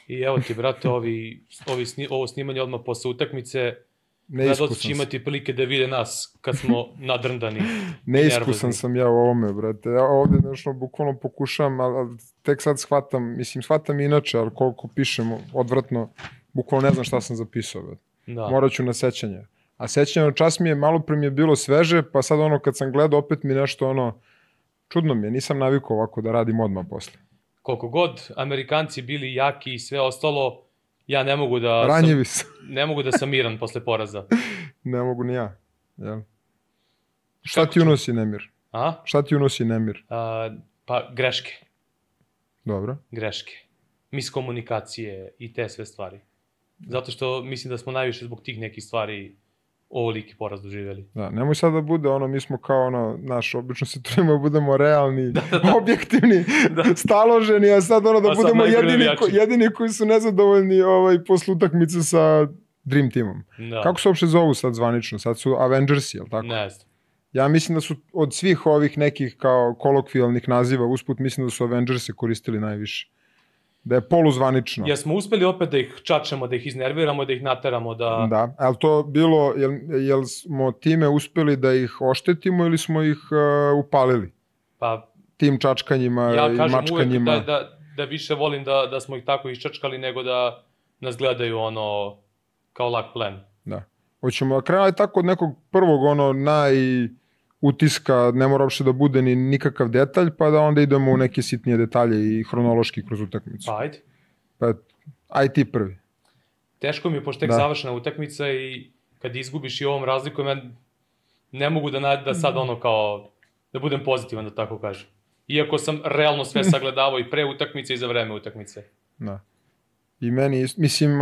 I evo ti, brate, ovo snimanje odmah posle utakmice. Gledalci će imati prilike da vide nas kad smo nadrndani. Neiskusan sam ja u ovome, brate. Ja ovde nešto bukvalno pokušavam, ali tek sad shvatam inače, ali koliko pišem odvratno, bukvalno ne znam šta sam zapisao, brate. Morat ću na sećanje. A sećanje čas mi je, malo pre mi je bilo sveže, pa sad ono kad sam gledao opet mi nešto ono, čudno mi je, nisam navikao ovako da radim odmah posle. Koliko god Amerikanci bili jaki i sve ostalo, ja ne mogu da... Ranjivi sam. Ne mogu da sam miran posle poraza. Ne mogu ni ja. Jel? Šta ti unosi nemir? Šta ti unosi nemir? Pa greške. Dobro. Greške. Miskomunikacije i te sve stvari. Zato što mislim da smo najviše zbog tih nekih stvari ovoliki poraz doživjeli. Da, nemoj sad da bude ono, mi smo kao ono, obično se trudimo da budemo realni, objektivni, staloženi, a sad ono da budemo jedini koji su nezadovoljni posle utakmice sa Dream Teamom. Kako se uopšte zovu sad zvanično? Sad su Avengersi, jel tako? Ne znam. Ja mislim da su od svih ovih nekih kao kolokvijalnih naziva usput, mislim da su Avengersi koristili najviše. Da je poluzvanično. Jer smo uspeli opet da ih čačemo, da ih iznerviramo, da ih nateramo da... Da, ali to bilo, jel smo time uspeli da ih oštetimo ili smo ih upalili? Pa... Tim čačkanjima i mačkanjima. Ja kažem uvek da više volim da smo ih tako iščačkali nego da nas gledaju ono kao lak plen. Da. Hoćemo da krenuli tako od nekog prvog utiska, ne mora uopšte da bude ni nikakav detalj, pa da onda idemo u neke sitnije detalje i hronološki kroz utakmicu. Pa ajde. Pa aj ti prvi. Teško mi je, pošto tek završena utakmica i kad izgubiš i ovom razlikom, ja ne mogu da sad ono kao, da budem pozitivan, da tako kažem. Iako sam realno sve sagledavao i pre utakmice i za vreme utakmice. Da. I meni, mislim,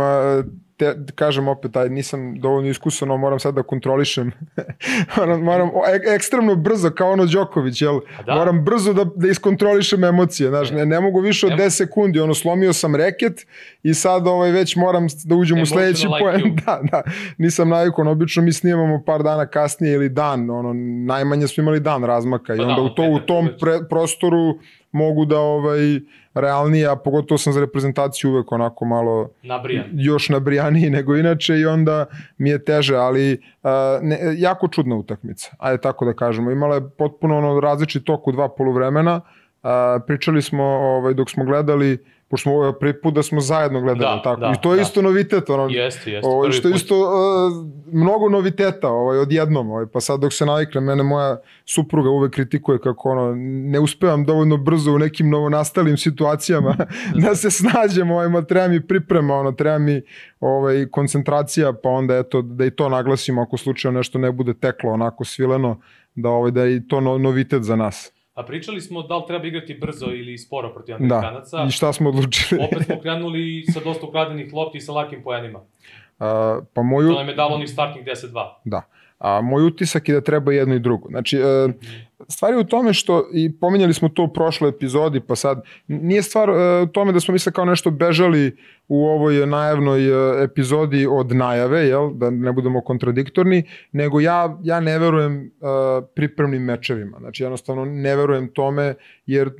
kažem opet, nisam dovoljno iskusan, moram sad da kontrolišem. moram ekstremno brzo, kao ono Đoković, jel? Moram brzo da iskontrolišem emocije, znaš, ne mogu više od 10 sekundi, slomio sam reket i sad već moram da uđem u sledeći poen. Da, nisam navikon, obično mi snimamo par dana kasnije ili dan, najmanje smo imali dan razmaka i onda u tom prostoru mogu da realnije, a pogotovo sam za reprezentaciju uvek onako malo još nabrijaniji nego inače i onda mi je teže, ali jako čudna utakmica, ajde tako da kažemo. Imala je potpuno različit tok u 2 poluvremena, pričali smo dok smo gledali, pošto smo prvi put da smo zajedno gledali, i to je isto novitet, što je isto mnogo noviteta odjednom, pa sad dok se navikne, mene moja supruga uvek kritikuje kako ne uspevam dovoljno brzo u nekim novonastalim situacijama da se snađem, treba mi priprema, treba mi koncentracija, pa onda eto da i to naglasimo ako slučajno nešto ne bude teklo onako svileno, da je i to novitet za nas. A pričali smo da li treba igrati brzo ili sporo protiv Amerikanaca. Da, i šta smo odlučili? Opet smo krenuli sa dosta ukradenih lopti i sa lakim poenima. To nam je dalo onih startnih 10-2. Da. A moj utisak je da treba jedno i drugo. Znači, stvar je u tome što, i pominjali smo to u prošloj epizodi, pa sad, nije stvar u tome da smo misle kao nešto bežali u ovoj najavnoj epizodi od najave, da ne budemo kontradiktorni, nego ja ne verujem pripremnim mečevima. Znači, jednostavno ne verujem tome, jer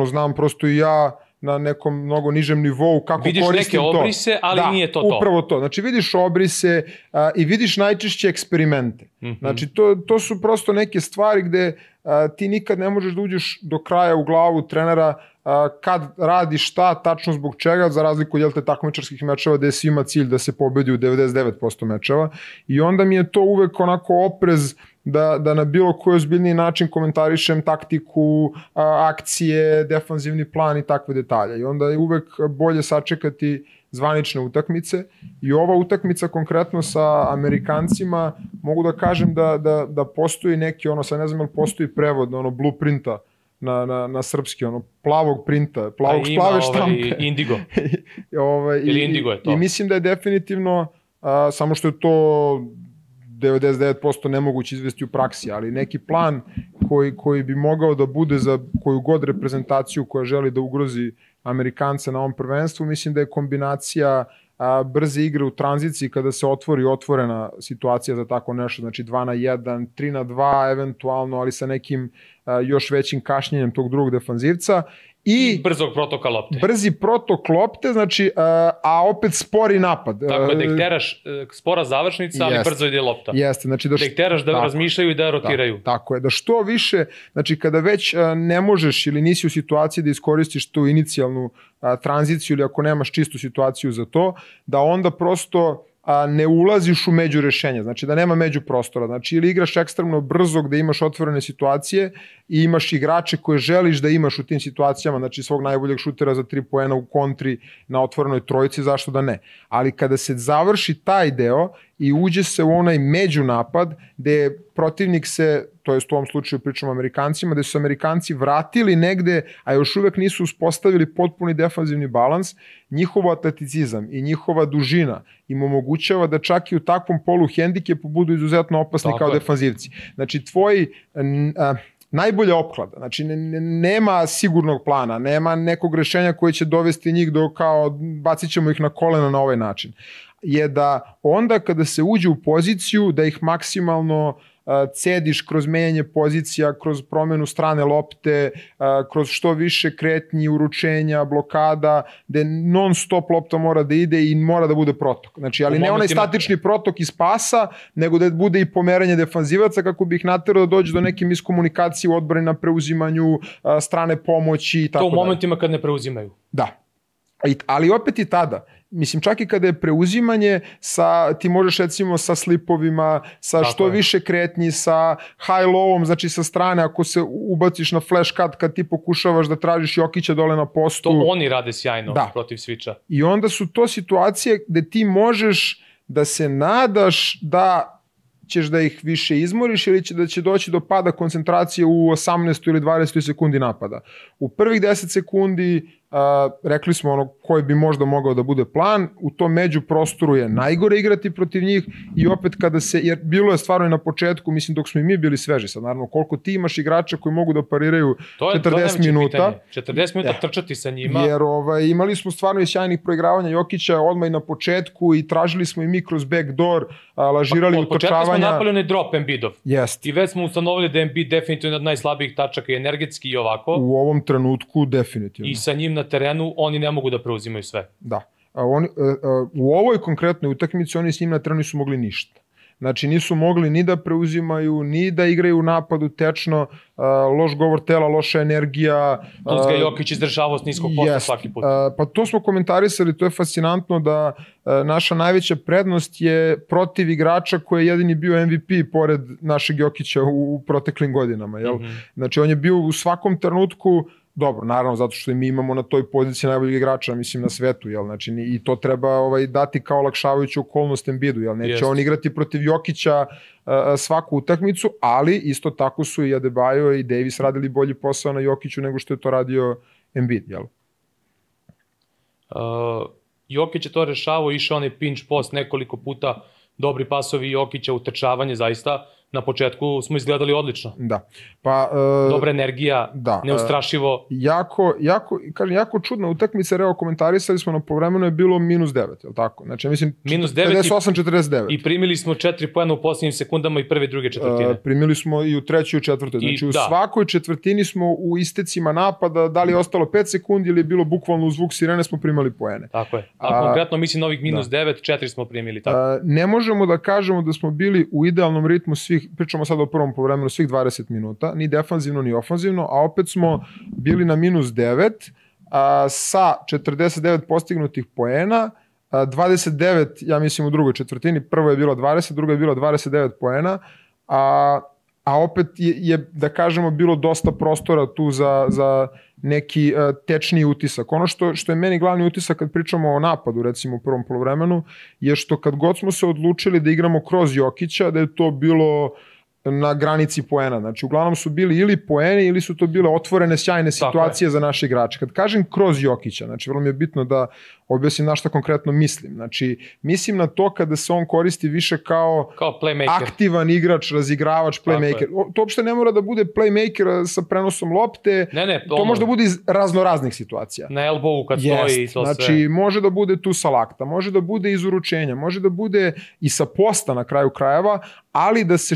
znam prosto i ja na nekom mnogo nižem nivou kako koristim to. Vidiš neke obrise, ali nije to to. Upravo to. Znači vidiš obrise i vidiš najčešće eksperimente. Znači to su prosto neke stvari gde ti nikad ne možeš da uđeš do kraja u glavu trenera kad radi šta, tačno zbog čega, za razliku od takmičarskih mečeva gde je svima cilj da se pobedi u 99% mečeva. I onda mi je to uvek onako oprez da na bilo koji ozbiljniji način komentarišem taktiku, akcije, defanzivni plan i takve detalje. I onda je uvek bolje sačekati zvanične utakmice. I ova utakmica konkretno sa Amerikancima, mogu da kažem da postoji neki, sad ne znam ili postoji prevod, blueprinta na srpski, plavog printa, plave štampe. Indigo. Ili Indigo je to. I mislim da je definitivno, samo što je to 99% nemoguće izvesti u praksi, ali neki plan koji bi mogao da bude za koju god reprezentaciju koja želi da ugrozi Amerikance na ovom prvenstvu, mislim da je kombinacija brze igre u tranziciji kada se otvori otvorena situacija za tako nešto, znači 2-1, 3-2 eventualno, ali sa nekim još većim kašnjenjem tog drugog defanzivca. I brzog protoka lopte. Brzi protok lopte, znači, a opet spori napad. Tako je, da ih teraš spora završnica, ali brzo ide lopta. Jeste, znači da ih teraš da razmišljaju i da rotiraju. Tako je, da što više, znači kada već ne možeš ili nisi u situaciji da iskoristiš tu inicijalnu tranziciju ili ako nemaš čistu situaciju za to, da onda prosto ne ulaziš u među rešenja, znači da nema među prostora, znači ili igraš ekstremno brzo gde imaš otvorene situacije i imaš igrače koje želiš da imaš u tim situacijama, znači svog najboljeg šutera za 3 poena u kontri na otvorenoj trojici, zašto da ne, ali kada se završi taj deo i uđe se u onaj međunapad gde protivnik se, to jest u ovom slučaju pričamo o Amerikancima, gde su Amerikanci vratili negde, a još uvek nisu uspostavili potpuni defanzivni balans, njihov atleticizam i njihova dužina im omogućava da čak i u takvom polu hendikepu budu izuzetno opasni kao defanzivci. Znači tvoj najbolja opklada, znači nema sigurnog plana, nema nekog rešenja koje će dovesti njih do kao bacit ćemo ih na kolena na ovaj način, je da onda kada se uđe u poziciju da ih maksimalno cediš kroz menjanje pozicija, kroz promenu strane lopte, kroz što više kretnji, uručenja, blokada, gde non stop lopta mora da ide i mora da bude protok. Znači, ali ne onaj statični protok iz pasa, nego da bude i pomeranje defanzivaca kako bi ih naterao da dođe do neke miskomunikacije u odbrani na preuzimanju, strane pomoći i tako dalje. To u momentima kad ne preuzimaju. Da. Ali opet i tada, mislim čak i kada je preuzimanje, ti možeš recimo sa slipovima, sa što više kretnji, sa high-lowom, znači sa strane, ako se ubaciš na flash cut kad ti pokušavaš da tražiš Jokića dole na postu. To oni rade sjajno protiv switcha. I onda su to situacije gde ti možeš da se nadaš da ćeš da ih više izmoriš ili da će doći do pada koncentracije u 18. ili 20. sekundi napada. U prvih 10 sekundi rekli smo ono koji bi možda mogao da bude plan, u tom među prostoru je najgore igrati protiv njih i opet kada se, jer bilo je stvarno i na početku, mislim dok smo i mi bili sveži sad, naravno koliko ti imaš igrača koji mogu da pariraju 40 minuta. 40 minuta trčati sa njima. Jer imali smo stvarno i sjajnih proigravanja Jokića odmah i na početku i tražili smo i mi kroz backdoor, lažirali utrčavanja. Od početka smo napravili drop Embiidov. Jest. I već smo ustanovili da je Embiid definitivno od najslabijih tačaka i energetski i ovako. U ovom trenutku definitivno. I sa njim na terenu oni ne mogu da preuzimaju sve. Da. U ovoj konkretnoj utakmici oni s njim na terenu nisu mogli ništa. Znači nisu mogli ni da preuzimaju, ni da igraju u napadu tečno, loš govor tela, loša energija. Plus ga Jokić izdržavao s niskog posta svaki put. Pa to smo komentarisali, to je fascinantno da naša najveća prednost je protiv igrača koji je jedini bio MVP pored našeg Jokića u proteklim godinama. Znači on je bio u svakom trenutku. Dobro, naravno, zato što mi imamo na toj poziciji najboljeg igrača, mislim, na svetu, znači, i to treba dati kao olakšavajuću okolnost Embiidu, neće on igrati protiv Jokića svaku utakmicu, ali isto tako su i Adebayo i Davis radili bolji posao na Jokiću nego što je to radio Embiid, jel? Jokić je to rešavao, išao onaj pinch post nekoliko puta, dobri pasovi Jokića, utrčavanje, zaista. Na početku smo izgledali odlično. Da. Dobra energija, neustrašivo. Jako čudna utakmica, evo komentarisali smo na povremeno je bilo -9, je li tako? Znači, mislim, -58-49. I primili smo 4 poena u posljednjim sekundama i prve i druge četvrtine. Primili smo i u trećoj i četvrtoj. Znači, u svakoj četvrtini smo u istecima napada, da li je ostalo 5 sekundi ili je bilo bukvalno u zvuk sirene, smo primali poene. Tako je. A konkretno, mislim, ovih -9, 4 smo primili. Ne možemo da kažemo da smo bili u idealnom ritmu svih, pričamo sad o prvom povremenu, svih 20 minuta, ni defanzivno ni ofanzivno, a opet smo bili na -9 sa 49 postignutih poena, 29, ja mislim u drugoj četvrtini, prvo je bilo 20, drugo je bilo 29 poena, a opet je, da kažemo, bilo dosta prostora tu za neki tečniji utisak. Ono što je meni glavni utisak kad pričamo o napadu, recimo u prvom poluvremenu, je što kad god smo se odlučili da igramo kroz Jokića, da je to bilo na granici poena. Znači, uglavnom su bili ili poeni ili su to bile otvorene sjajne situacije za naše igrače. Kad kažem kroz Jokića, znači, vrlo mi je bitno da objasnim na šta konkretno mislim. Znači, mislim na to kada se on koristi više kao aktivan igrač, razigravač, playmaker. To uopšte ne mora da bude playmaker sa prenosom lopte. To može da bude iz raznoraznih situacija. Na elbowu kad stoji i to sve. Znači, može da bude tu sa lakta, može da bude iz uručenja, može da bude i sa posta na kraju krajeva, ali da se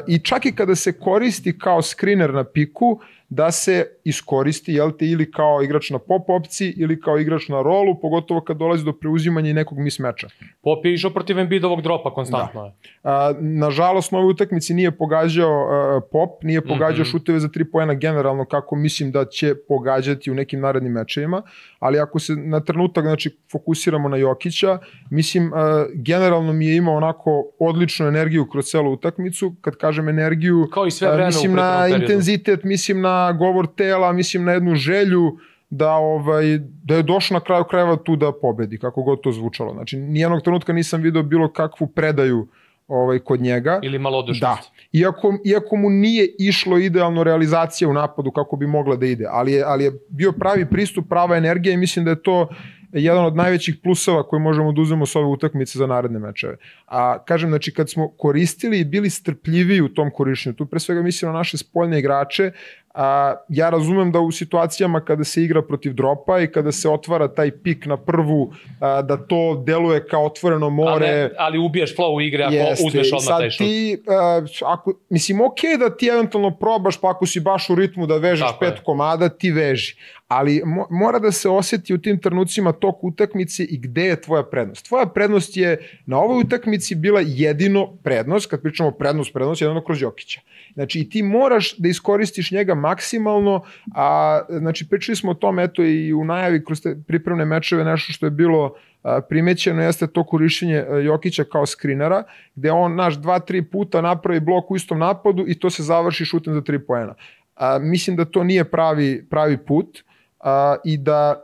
i čak i kada se koristi kao screener na piku, da se iskoristi, jel te, ili kao igrač na pop opciji ili kao igrač na rolu, pogotovo kad dolazi do preuzimanja i nekog mismeča. Pop je išao protiv Embiidovog dropa konstantno. Nažalost, na ovoj utakmici nije pogađao Pop, nije pogađao šuteve za 3 poena generalno, kako mislim da će pogađati u nekim narednim mečevima, ali ako se na trenutak, znači, fokusiramo na Jokića, mislim, generalno mi je imao onako odličnu energiju kroz celu utakmicu. Kad kažem energiju, kao i sve vreme, mislim na intenzitet, mislim na govor tela, mislim na jednu želju da je došao na kraju krajeva tu da pobedi, kako god to zvučalo. Znači, nijednog trenutka nisam video bilo kakvu predaju kod njega. Ili malodušnost. Da. Iako mu nije išlo idealno realizacija u napadu kako bi mogla da ide, ali je bio pravi pristup, prava energija i mislim da je to jedan od najvećih plusova koje možemo da uzmemo s ove utakmice za naredne mečeve. A kažem, znači, kad smo koristili i bili strpljiviji u tom korišćenju, tu pre svega mislim na naše spoljne igrače, ja razumem da u situacijama kada se igra protiv dropa i kada se otvara taj pik na prvu, da to deluje kao otvoreno more. Ali ubiješ flow igre ako uzmeš odmah taj šut. Mislim, okej da ti eventualno probaš, pa ako si baš u ritmu da vežeš 5 komada, ti veži. Ali mora da se osjeti u tim trenucima tok utakmice i gde je tvoja prednost. Tvoja prednost je na ovoj utakmici bila jedino prednost, kad pričamo prednost, jedino kroz Jokića. Znači, i ti moraš da iskoristiš njega maksimalno, a znači, pričali smo o tom, eto, i u najavi kroz te pripremne mečeve, nešto što je bilo primećeno jeste to korišćenje Jokića kao skrinera, gde on 2-3 puta napravi blok u istom napadu i to se završi šutem za 3 poena. Mislim da to nije pravi put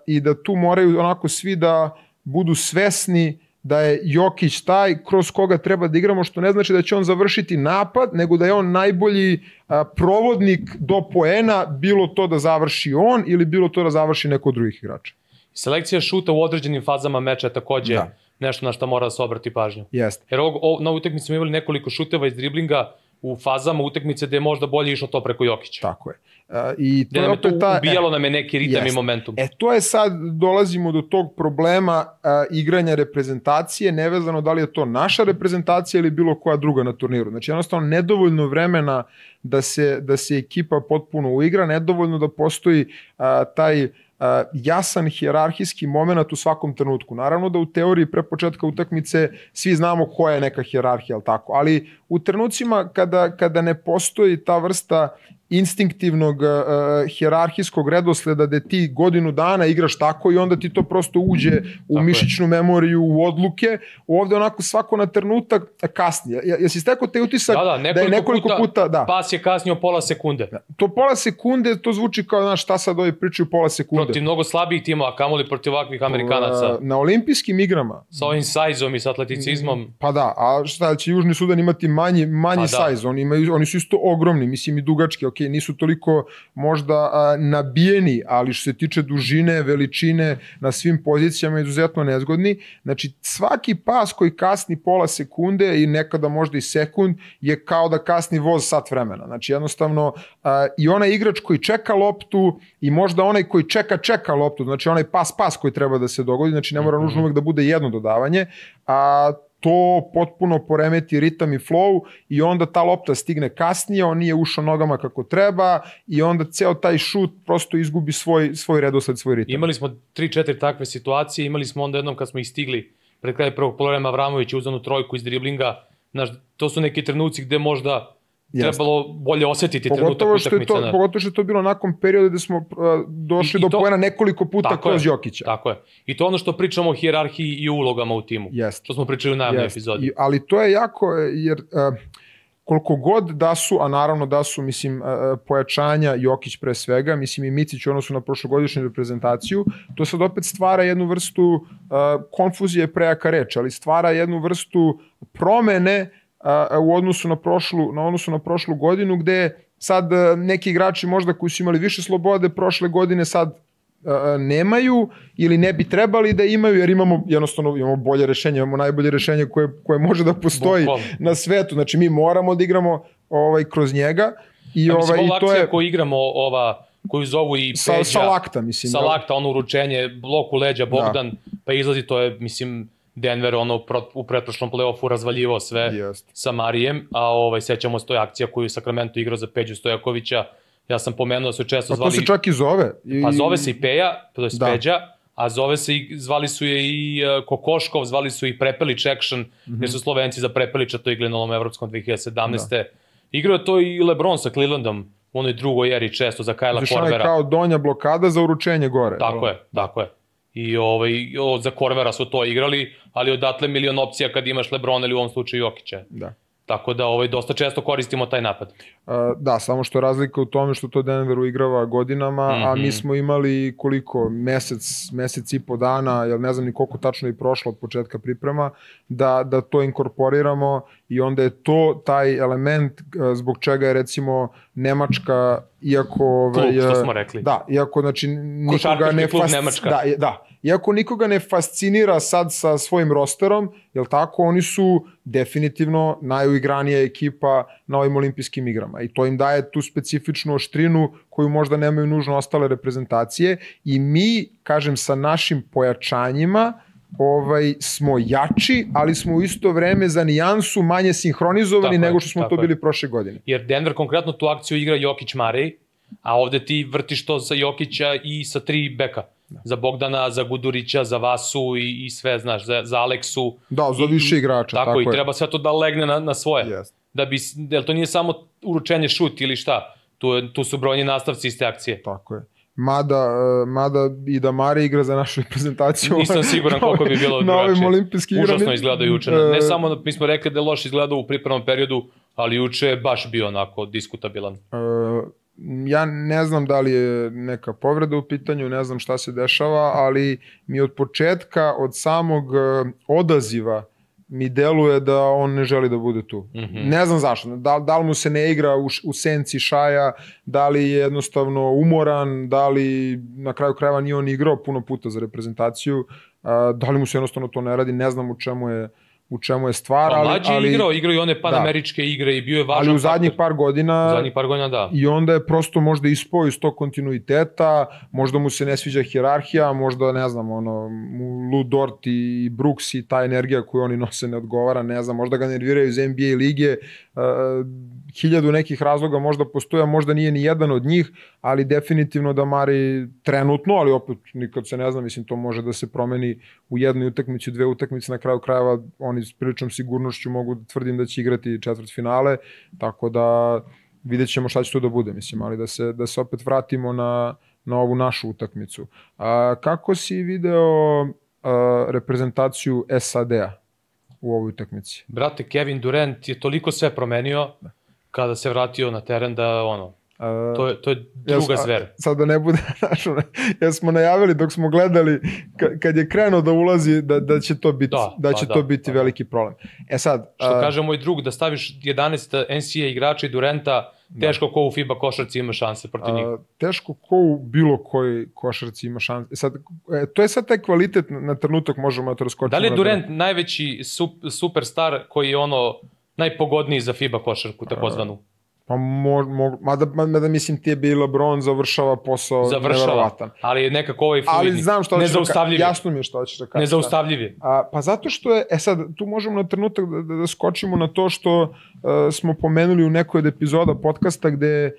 i da tu moraju onako svi da budu svesni da je Jokić taj kroz koga treba da igramo, što ne znači da će on završiti napad, nego da je on najbolji provodnik do poena, bilo to da završi on ili bilo to da završi neko od drugih igrača. Selekcija šuta u određenim fazama meča je takođe nešto na što mora da se obrati pažnju. Jeste. Jer na utakmici smo imali nekoliko šuteva iz driblinga u fazama utakmice gde je možda bolje išlo to preko Jokića. Tako je. I to je ubijalo nam je neki ritam i momentum. To je sad, dolazimo do tog problema igranja reprezentacije, nevezano da li je to naša reprezentacija ili bilo koja druga na turniru. Znači, jednostavno, nedovoljno vremena da se ekipa potpuno uigra, nedovoljno da postoji taj jasan hijerarhijski moment u svakom trenutku. Naravno da u teoriji pre početka utakmice svi znamo koja je neka hijerarhija, ali u trenucima kada ne postoji ta vrsta instinktivnog hijerarhijskog redosleda gde ti godinu dana igraš tako i onda ti to prosto uđe u mišićnu memoriju, u odluke, ovde onako svako na trenutak kasnije. Jesi stekao te utisak da je nekoliko puta pas je kasnio pola sekunde. To pola sekunde, to zvuči kao, znaš, šta sad ovi pričaju pola sekunde. Protiv mnogo slabijih timova, kamoli protiv ovakvih Amerikanaca. Na olimpijskim igrama. Sa ovim sajzom i sa atleticizmom. Pa da, a šta će Južni Sudan imati manji sajz, oni su isto ogromni, mislim i dugački, ok, nisu toliko možda nabijeni, ali što se tiče dužine, veličine, na svim pozicijama izuzetno nezgodni. Znači, svaki pas koji kasni pola sekunde i nekada možda i sekund je kao da kasni voz sat vremena. Znači, jednostavno, i onaj igrač koji čeka loptu i možda onaj koji čeka loptu, znači onaj pas koji treba da se dogodi, znači ne mora nužno uvek da bude jedno dodavanje, to potpuno poremeti ritam i flow i onda ta lopta stigne kasnije, on nije ušao nogama kako treba i onda ceo taj šut prosto izgubi svoj redosled, svoj ritam. Imali smo 3-4 takve situacije, imali smo onda jednom kad smo ih stigli pred kraj prvog poluvremena, Avramović je uzeo trojku iz driblinga, to su neki trenuci gde možda trebalo bolje osetiti trenutak utakmice. Pogotovo što je to bilo nakon perioda gde smo došli do poena nekoliko puta kroz Jokića. Tako je. I to ono što pričamo o hijerarhiji i ulogama u timu. Što smo pričali u najavnoj epizodi. Ali to je jako, jer koliko god da su, a naravno da su, mislim, pojačanja Jokić pre svega, mislim i Micić u odnosu na prošlogodišnju reprezentaciju, to sad opet stvara jednu vrstu konfuzije, prejaka reč, ali stvara jednu vrstu promene u odnosu na prošlu godinu, gde sad neki igrači možda koji su imali više slobode prošle godine sad nemaju ili ne bi trebali da imaju, jer imamo bolje rešenje, imamo najbolje rešenje koje može da postoji na svetu. Znači mi moramo da igramo kroz njega. Mislim, ova akcija koju igramo, koju zovu i Peđa, sa lakta, mislim. Sa lakta, ono uručenje, blok u leđa, Bogdan, pa izlazi, to je, mislim, Denver u pretprošlom play-offu razvaljivao sve sa Marijem, a sećamo se toj akcija koju je Sacramento igrao za Peđu Stojakovića. Ja sam pomenuo da su često zvali... Pa to se čak i zove. Pa zove se i Peja, to je Peđa, a zvali su je i Kokoškov, zvali su i Prepelić Action, jer su Slovenci za Prepelića to igrali na ovom evropskom 2017. Igrao je to i LeBron sa Clevelandom, u onoj drugoj eri često za Kajla Korvera. Znači kao donja blokada za uručenje gore. Tako je. I za Korvera su to igrali, ali odatle milion opcija kad imaš LeBron ili u ovom slučaju Jokića. Da. Tako da dosta često koristimo taj napad. Da, samo što je razlika u tome što to Denver uigrava godinama, a mi smo imali koliko, mesec i po dana, jer ne znam ni koliko tačno je prošlo od početka priprema, da to inkorporiramo i onda je to taj element zbog čega je recimo Nemačka, iako... Klub, što smo rekli. Da, iako znači košarkaški klub Nemačka. Da, iako nikoga ne fascinira sad sa svojim rosterom, jel tako, oni su definitivno najuigranija ekipa na ovim olimpijskim igrama i to im daje tu specifičnu oštrinu koju možda nemaju nužno ostale reprezentacije i mi, kažem, sa našim pojačanjima smo jači, ali smo u isto vreme za nijansu manje sinhronizovani nego što smo to bili prošle godine. Jer Denver konkretno tu akciju igra Jokić-Marej, a ovde ti vrtiš to sa Jokića i sa 3 beka. Za Bogdana, za Gudurića, za Vasu i sve, znaš, za Aleksu. Da, za više igrača. Tako i treba sve to da legne na svoje. Jer to nije samo uručenje šut ili šta. Tu su brojni nastavci iz te akcije. Tako je. Mada i da Mare igra za našu reprezentaciju. Nisam siguran koliko bi bilo na ovim olimpijskim igrama. Užasno izgleda juče. Ne samo, mi smo rekli da je loš izgledao u pripremnom periodu, ali juče je baš bio onako diskutabilan. Ja ne znam da li je neka povreda u pitanju, ne znam šta se dešava, ali mi od početka, od samog odaziva, mi deluje da on ne želi da bude tu. Ne znam zašto. Da li mu se ne igra u senci Šaja, da li je jednostavno umoran, da li na kraju krajeva nije on igrao puno puta za reprezentaciju, da li mu se jednostavno to ne radi, ne znam u čemu je stvar. Pa mlađi je igrao i one panameričke igre i bio je važan faktor. Ali u zadnjih par godina da. I onda je prosto možda ispao iz tog kontinuiteta, možda mu se ne sviđa hijerarhija, možda ne znam, Lou Dort i Brooks i ta energija koju oni nose ne odgovara, ne znam, možda ga nerviraju iz NBA lige, 1000 nekih razloga možda postoja, možda nije ni jedan od njih, ali definitivno da Mari trenutno, ali opet nikad se ne zna, mislim to može da se promeni u jednoj utakmici, 2 utakmice, na kraju krajeva oni s priličnom sigurnošću mogu da tvrdim da će igrati četvrtfinale, tako da vidjet ćemo šta će to da bude, mislim, ali da se opet vratimo na ovu našu utakmicu. Kako si video reprezentaciju SAD-a u ovoj utakmici? Brate, Kevin Durant je toliko sve promenio kada se vratio na teren da to je druga zver. Sad da ne bude, jer smo najavili dok smo gledali, kad je krenuo da ulazi, da će to biti veliki problem. Sad... Što kaže moj drug, da staviš 11 NCAA igrača i Duranta, teško ko u FIBA košarci ima šanse protiv njih. Teško ko u bilo kojoj košarci ima šanse. To je sad taj kvalitet, na trenutak možemo da to raskočimo. Da li je Durant najveći superstar koji je najpogodniji za FIBA košarku, takozvanu? Pa mada mislim ti je bi LeBron završava posao nevjerovatan. Ali je nekako fluidni, nezaustavljiv. Jasno mi je što ćeš da kažeš. Nezaustavljiv je. Pa zato što je, sad tu možemo na trenutak da skočimo na to što smo pomenuli u nekoj od epizoda podcasta gde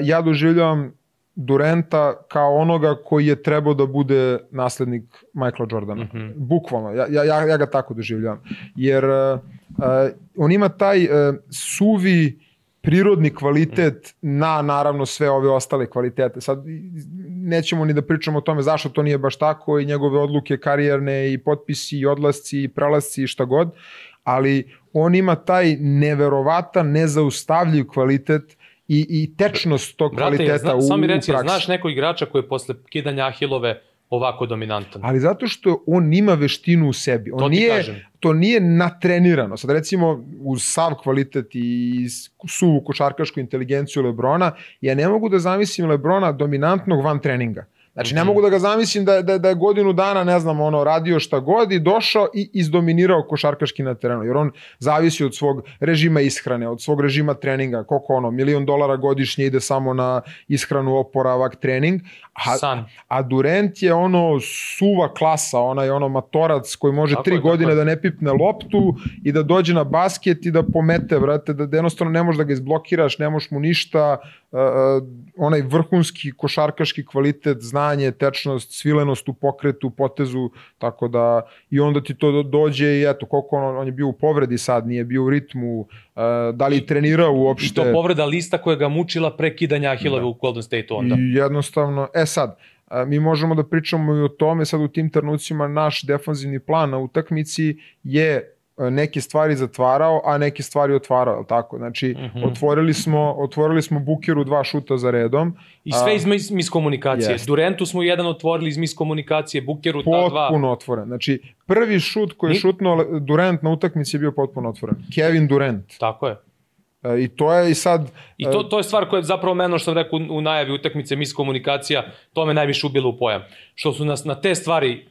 ja doživljavam Duranta kao onoga koji je trebao da bude naslednik Michaela Jordana. Bukvalno, ja ga tako doživljavam. Jer on ima taj suvi prirodni kvalitet na, naravno, sve ove ostale kvalitete. Sad nećemo ni da pričamo o tome zašto to nije baš tako i njegove odluke karijerne i potpisi i odlasci i prelasci i šta god, ali on ima taj neverovatan, nezaustavljiv kvalitet i tečnost tog kvaliteta u praksi. Samo mi reci, znaš nekog igrača koji je posle kidanja Ahilove ovako dominantan? Ali zato što on ima veštinu u sebi. To nije natrenirano. Sad recimo uz sav kvalitet i suvu košarkašku inteligenciju LeBrona, ja ne mogu da zamislim LeBrona dominantnog van treninga. Znači, ne mogu da ga zamislim da je godinu dana, ne znam, radio šta god i došao i izdominirao košarkaški na terenu, jer on zavisi od svog režima ishrane, od svog režima treninga, koliko $1 milion godišnje ide samo na ishranu, oporavak, trening, a Durant je suva klasa, onaj matorac koji može 3 godine da ne pipne loptu i da dođe na basket i da pomete, brate, da jednostavno ne možeš da ga izblokiraš, ne možeš mu ništa, onaj vrhunski košarkaški kvalitet, znanje, tečnost, svilenost u pokretu, potezu, tako da i onda ti to dođe i eto, koliko on je bio u povredi sad, nije bio u ritmu, da li je trenirao uopšte. I to povreda lista koja ga mučila pre kidanja Ahilove u Golden State-u onda. I jednostavno, sad, mi možemo da pričamo i o tome, sad u tim trenucima naš defanzivni plan na utakmici je neke stvari zatvarao, a neke stvari otvarao, je li tako? Znači, otvorili smo Bookeru 2 šuta za redom. I sve iz miskomunikacije. Durantu smo jedan otvorili iz miskomunikacije, Bookeru ta 2. Potpuno otvoren. Znači, prvi šut koji je šutnuo Durant na utakmici je bio potpuno otvoren. Kevin Durant. Tako je. I to je i sad... I to je stvar koja je zapravo meno što sam rekao u najavi utakmice, miskomunikacija, to me najviše ubilo u pojam. Što su nas na te stvari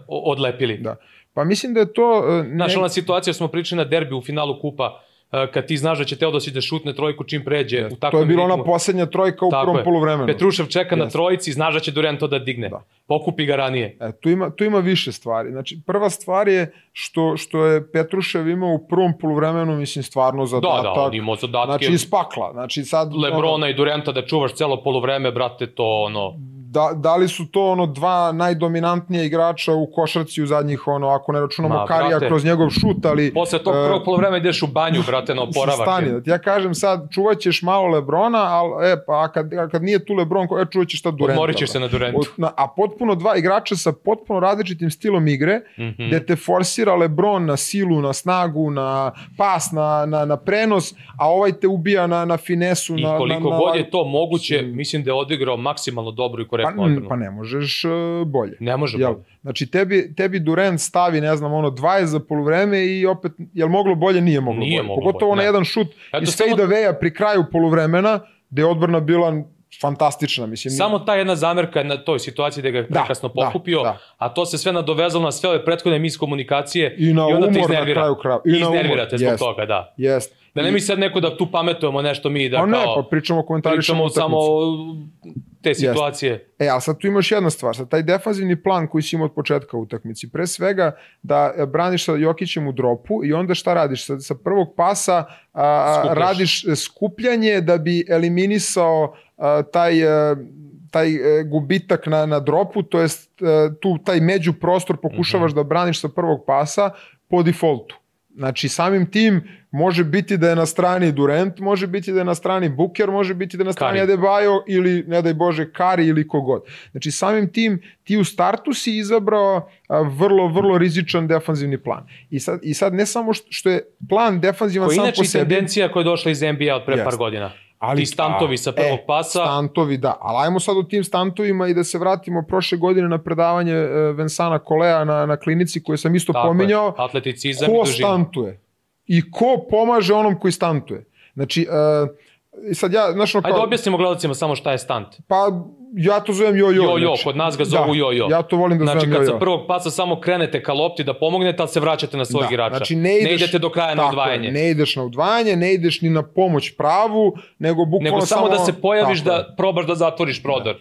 odlepili. Da. Pa mislim da je to... Znaš, ona situacija smo pričali na derbi u finalu kupa, kad ti znaš da će Teodosić da šutne trojku čim pređe. To je bila ona poslednja trojka u prvom poluvremenu. Petrušev čeka na trojici, znaš da će Durant to da digne. Pokupi ga ranije. Tu ima više stvari. Znači, prva stvar je što je Petrušev imao u prvom poluvremenu, mislim, stvarno zadatak. Da, on imao zadatke. Znači, iz pakla. Znači, sad... Lebrona i Duranta da čuvaš celo poluvreme, brate, to Da li su to dva najdominantnija igrača u košarci u zadnjih, ako ne računamo Karija kroz njegov šut, ali... Posle tog prvog poluvremena ideš u banju, brate, na oporavak. Stani, da ti ja kažem sad, čuvat ćeš malo Lebrona, a kad nije tu Lebron, čuvat ćeš šta Duranta. Odmorit ćeš se na Durantu. A potpuno dva igrača sa potpuno različitim stilom igre, gde te forsira Lebron na silu, na snagu, na pas, na prenos, a ovaj te ubija na finesu. I koliko god je to moguće, mislim da je odigrao maksimalno dobro i korektno odbranu. Pa ne možeš bolje. Ne može bolje. Znači tebi Durant stavi, ne znam, 20 za poluvreme i opet, jel moglo bolje? Nije moglo bolje. Pogotovo na jedan šut iz fade away-a pri kraju poluvremena, gde je odbrana bila fantastična, mislim. Samo ta jedna zamerka na toj situaciji da ga je prekasno pokupio, a to se sve nadovezalo na sve ove prethodne miskomunikacije i na onda umor na kraju kraja. I iznervirate zbog toga, da. Jest. Da ne mi sad neko da tu pametujemo nešto mi da kao... Pa ne, pa pričamo samo te situacije. Ali sad tu imaš jedna stvar, sad taj defanzivni plan koji si imao od početka u utakmici, pre svega da braniš sa Jokićem u dropu i onda šta radiš? Sa prvog pasa radiš skupljanje da bi eliminisao taj gubitak na dropu, to jest tu taj međuprostor pokušavaš da braniš sa prvog pasa po defaultu. Znači, samim tim može biti da je na strani Durant, može biti da je na strani Booker, može biti da je na strani Adebayo ili, ne daj Bože, Kari ili kogod. Znači, samim tim ti u startu si izabrao vrlo, vrlo rizičan defanzivni plan. I sad ne samo što je plan defanzivan sam po sebi... Koji inače tendencija koja je došla iz NBA od pre par godina. Ti stantovi sa prvog pasa. Stantovi, da. Ali ajmo sad o tim stantovima i da se vratimo prošle godine na predavanje Vincenta Colea na klinici koje sam isto pominjao. Atleticizam ko stantuje i ko pomaže onom koji stantuje. Znači, sad ja... Ajde objasnimo gledalcima samo šta je stant. Pa... Ja to zovem jo-jo. Jo-jo, kod nas ga zovu jo-jo. Ja to volim da zovem jo-jo. Znači, kad sa prvog pasa samo krenete ka lopti da pomognete, ali se vraćate na svojeg igrača. Znači, ne idete do kraja na udvajanje. Ne ideš na udvajanje, ne ideš ni na pomoć pravu, nego bukvalno samo da se pojaviš da probaš da zatvoriš prodor.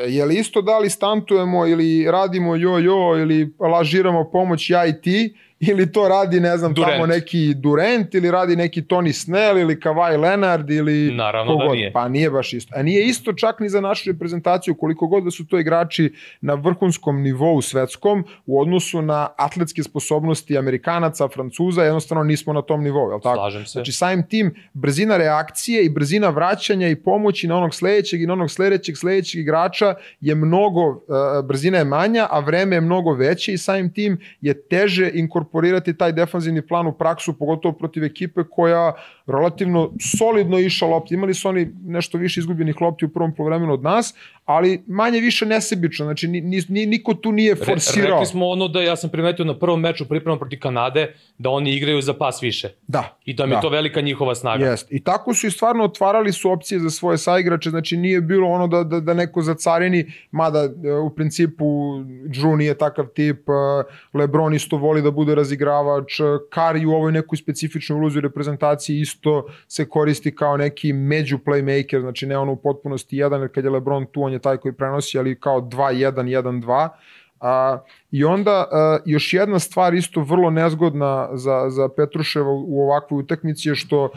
Je li isto da li stantujemo ili radimo jo-jo ili lažiramo pomoć ja i ti, ili to radi, ne znam, tamo neki Durant, ili radi neki Tony Snell, ili Kawhi Leonard, ili naravno kogod. Da nije. Pa nije baš isto. A nije isto čak ni za našu reprezentaciju, koliko god da su to igrači na vrhunskom nivou svetskom, u odnosu na atletske sposobnosti Amerikanaca, Francuza, jednostavno nismo na tom nivou, jel tako? Slažem se. Znači, samim tim, brzina reakcije i brzina vraćanja i pomoći na onog sledećeg i na onog sledećeg igrača je mnogo, brzina je manja, a vreme je mnogo veće i samim tim je teže inkorporirati taj defanzivni plan u praksu, pogotovo protiv ekipe koja relativno solidno išla lopti. Imali su oni nešto više izgubljenih lopti u prvom poluvremenu od nas, ali manje više nesebično, znači niko tu nije forsirao. Rekli smo ono da ja sam primetio na prvom meču pripremom protiv Kanade, da oni igraju za pas više. Da. I da mi je to velika njihova snaga. Jest. I tako su i stvarno otvarali su opcije za svoje saigrače, znači nije bilo ono da neko zacarini, mada u principu Drew nije takav tip, LeBron isto voli da bude razigravač, Curry u ovoj nekoj specifičnoj ulozi u reprezentaciji isto se koristi kao neki među playmaker, znači ne ono u potpunosti jedan, jer kad je LeBron tu, on je taj koji prenosi, ali kao 2-1, 1-2. I onda još jedna stvar isto vrlo nezgodna za Petruševa u ovakvoj utakmici je što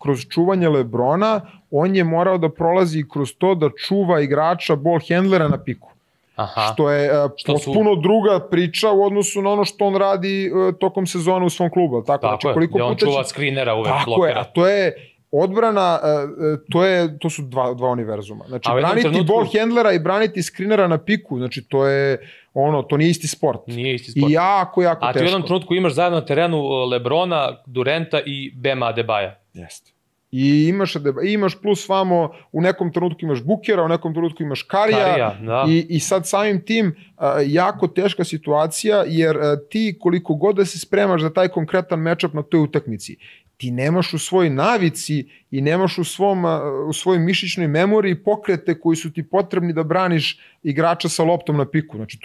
kroz čuvanje LeBrona on je morao da prolazi kroz to da čuva igrača ball handlera na piku. Aha. Što je potpuno druga priča u odnosu na ono što on radi tokom sezone u svom klubu. Tako znači, je, gde on čuva skrinera uvek blokera. Tako je, a to je odbrana, to su dva univerzuma. Znači, braniti ball handlera i braniti skrinera na piku, znači to je to nije isti sport. Nije isti sport. I jako teško. A ti u jednom trenutku imaš zajedno na terenu LeBrona, Durenta i Bema Adebaja. Jeste. I imaš plus vamo, u nekom trenutku imaš Bookera, u nekom trenutku imaš Karija i sad samim tim jako teška situacija, jer ti koliko god da se spremaš za taj konkretan matchup na toj utakmici, ti nemaš u svojoj navici i nemaš u svojoj mišićnoj memoriji pokrete koji su ti potrebni da braniš igrača sa loptom na piku. Znači,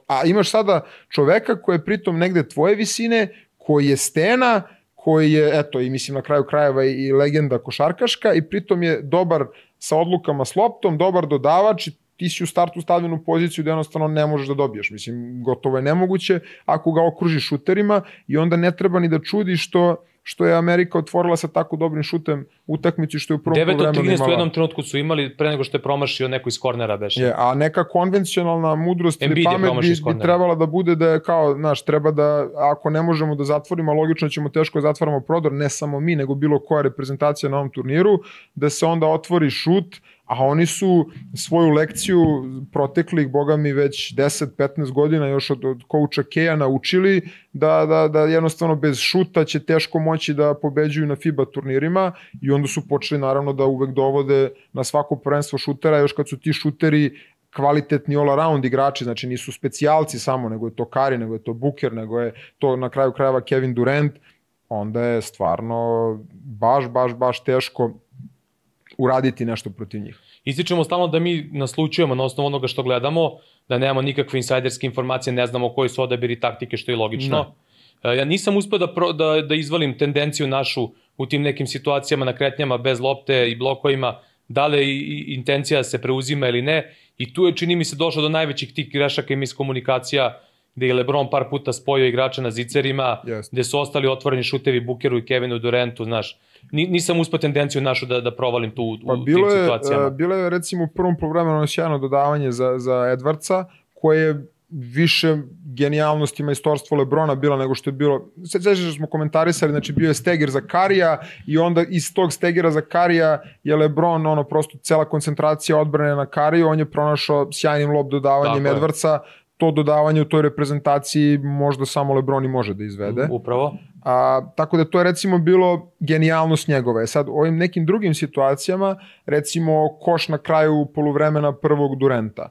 a imaš sada čoveka koji je pritom negde tvoje visine, koji je stena, koji je, eto, i mislim na kraju krajeva i legenda košarkaška i pritom je dobar sa odlukama s loptom, dobar dodavač i ti si u startu stavljen u poziciju da jednostavno ne možeš da dobiješ. Mislim, gotovo je nemoguće ako ga okružiš šuterima i onda ne treba ni da čudi što je Amerika otvorila sa tako dobrim šutem utakmici što je u prvom poluvremenu imala. 9 od 13 u jednom trenutku su imali pre nego što je promašio neko iz kornera beše. A neka konvencionalna mudrost ili pamet bi trebala da bude da je kao, znaš, treba da, ako ne možemo da zatvorimo, logično ćemo teško da zatvaramo prodor, ne samo mi, nego bilo koja reprezentacija na ovom turniru, da se onda otvori šut, a oni su svoju lekciju proteklih, boga mi, već 10-15 godina još od kouča Keja naučili da jednostavno bez šuta će teško moći da pobeđuju na FIBA turnirima i onda su počeli naravno da uvek dovode na svako prvenstvo šutera, još kad su ti šuteri kvalitetni all-around igrači, znači nisu specijalci samo, nego je to Curry, nego je to Booker, nego je to na kraju krajeva Kevin Durant, onda je stvarno baš teško uraditi nešto protiv njih. Ističemo stalno da mi naslučujemo na osnovu onoga što gledamo, da nemamo nikakve insajderske informacije, ne znamo koji su odabiri taktike, što je logično. Ja nisam uspeo da izvalim tendenciju našu u tim nekim situacijama na kretnjama bez lopte i blokovima, da li intencija se preuzima ili ne. I tu je, čini mi se, došlo do najvećih tih grešaka i miskomunikacija, gde je LeBron par puta spojio igrača na zicerima, gde su ostali otvoreni šutevi Bookeru i Kevinu Durantu, znaš. Nisam uspeo tendenciju našu da provalim tu u tim situacijama. Bilo je recimo u prvom poluvremenu sjajno dodavanje za Edwardsa, koje je više genijalnosti majstorstvo LeBrona bila nego što je bilo, sveće što smo komentarisali, znači bio je steger za Karija i onda iz tog stegera za Karija je LeBron, prosto cela koncentracija odbrane na Kariju, on je pronašao sjajnim lob dodavanjem Edwardsa, to dodavanje u toj reprezentaciji možda samo LeBron i može da izvede. Upravo. Tako da to je recimo bilo genijalnost njegove. Sad u ovim nekim drugim situacijama, recimo koš na kraju poluvremena prvog Duranta,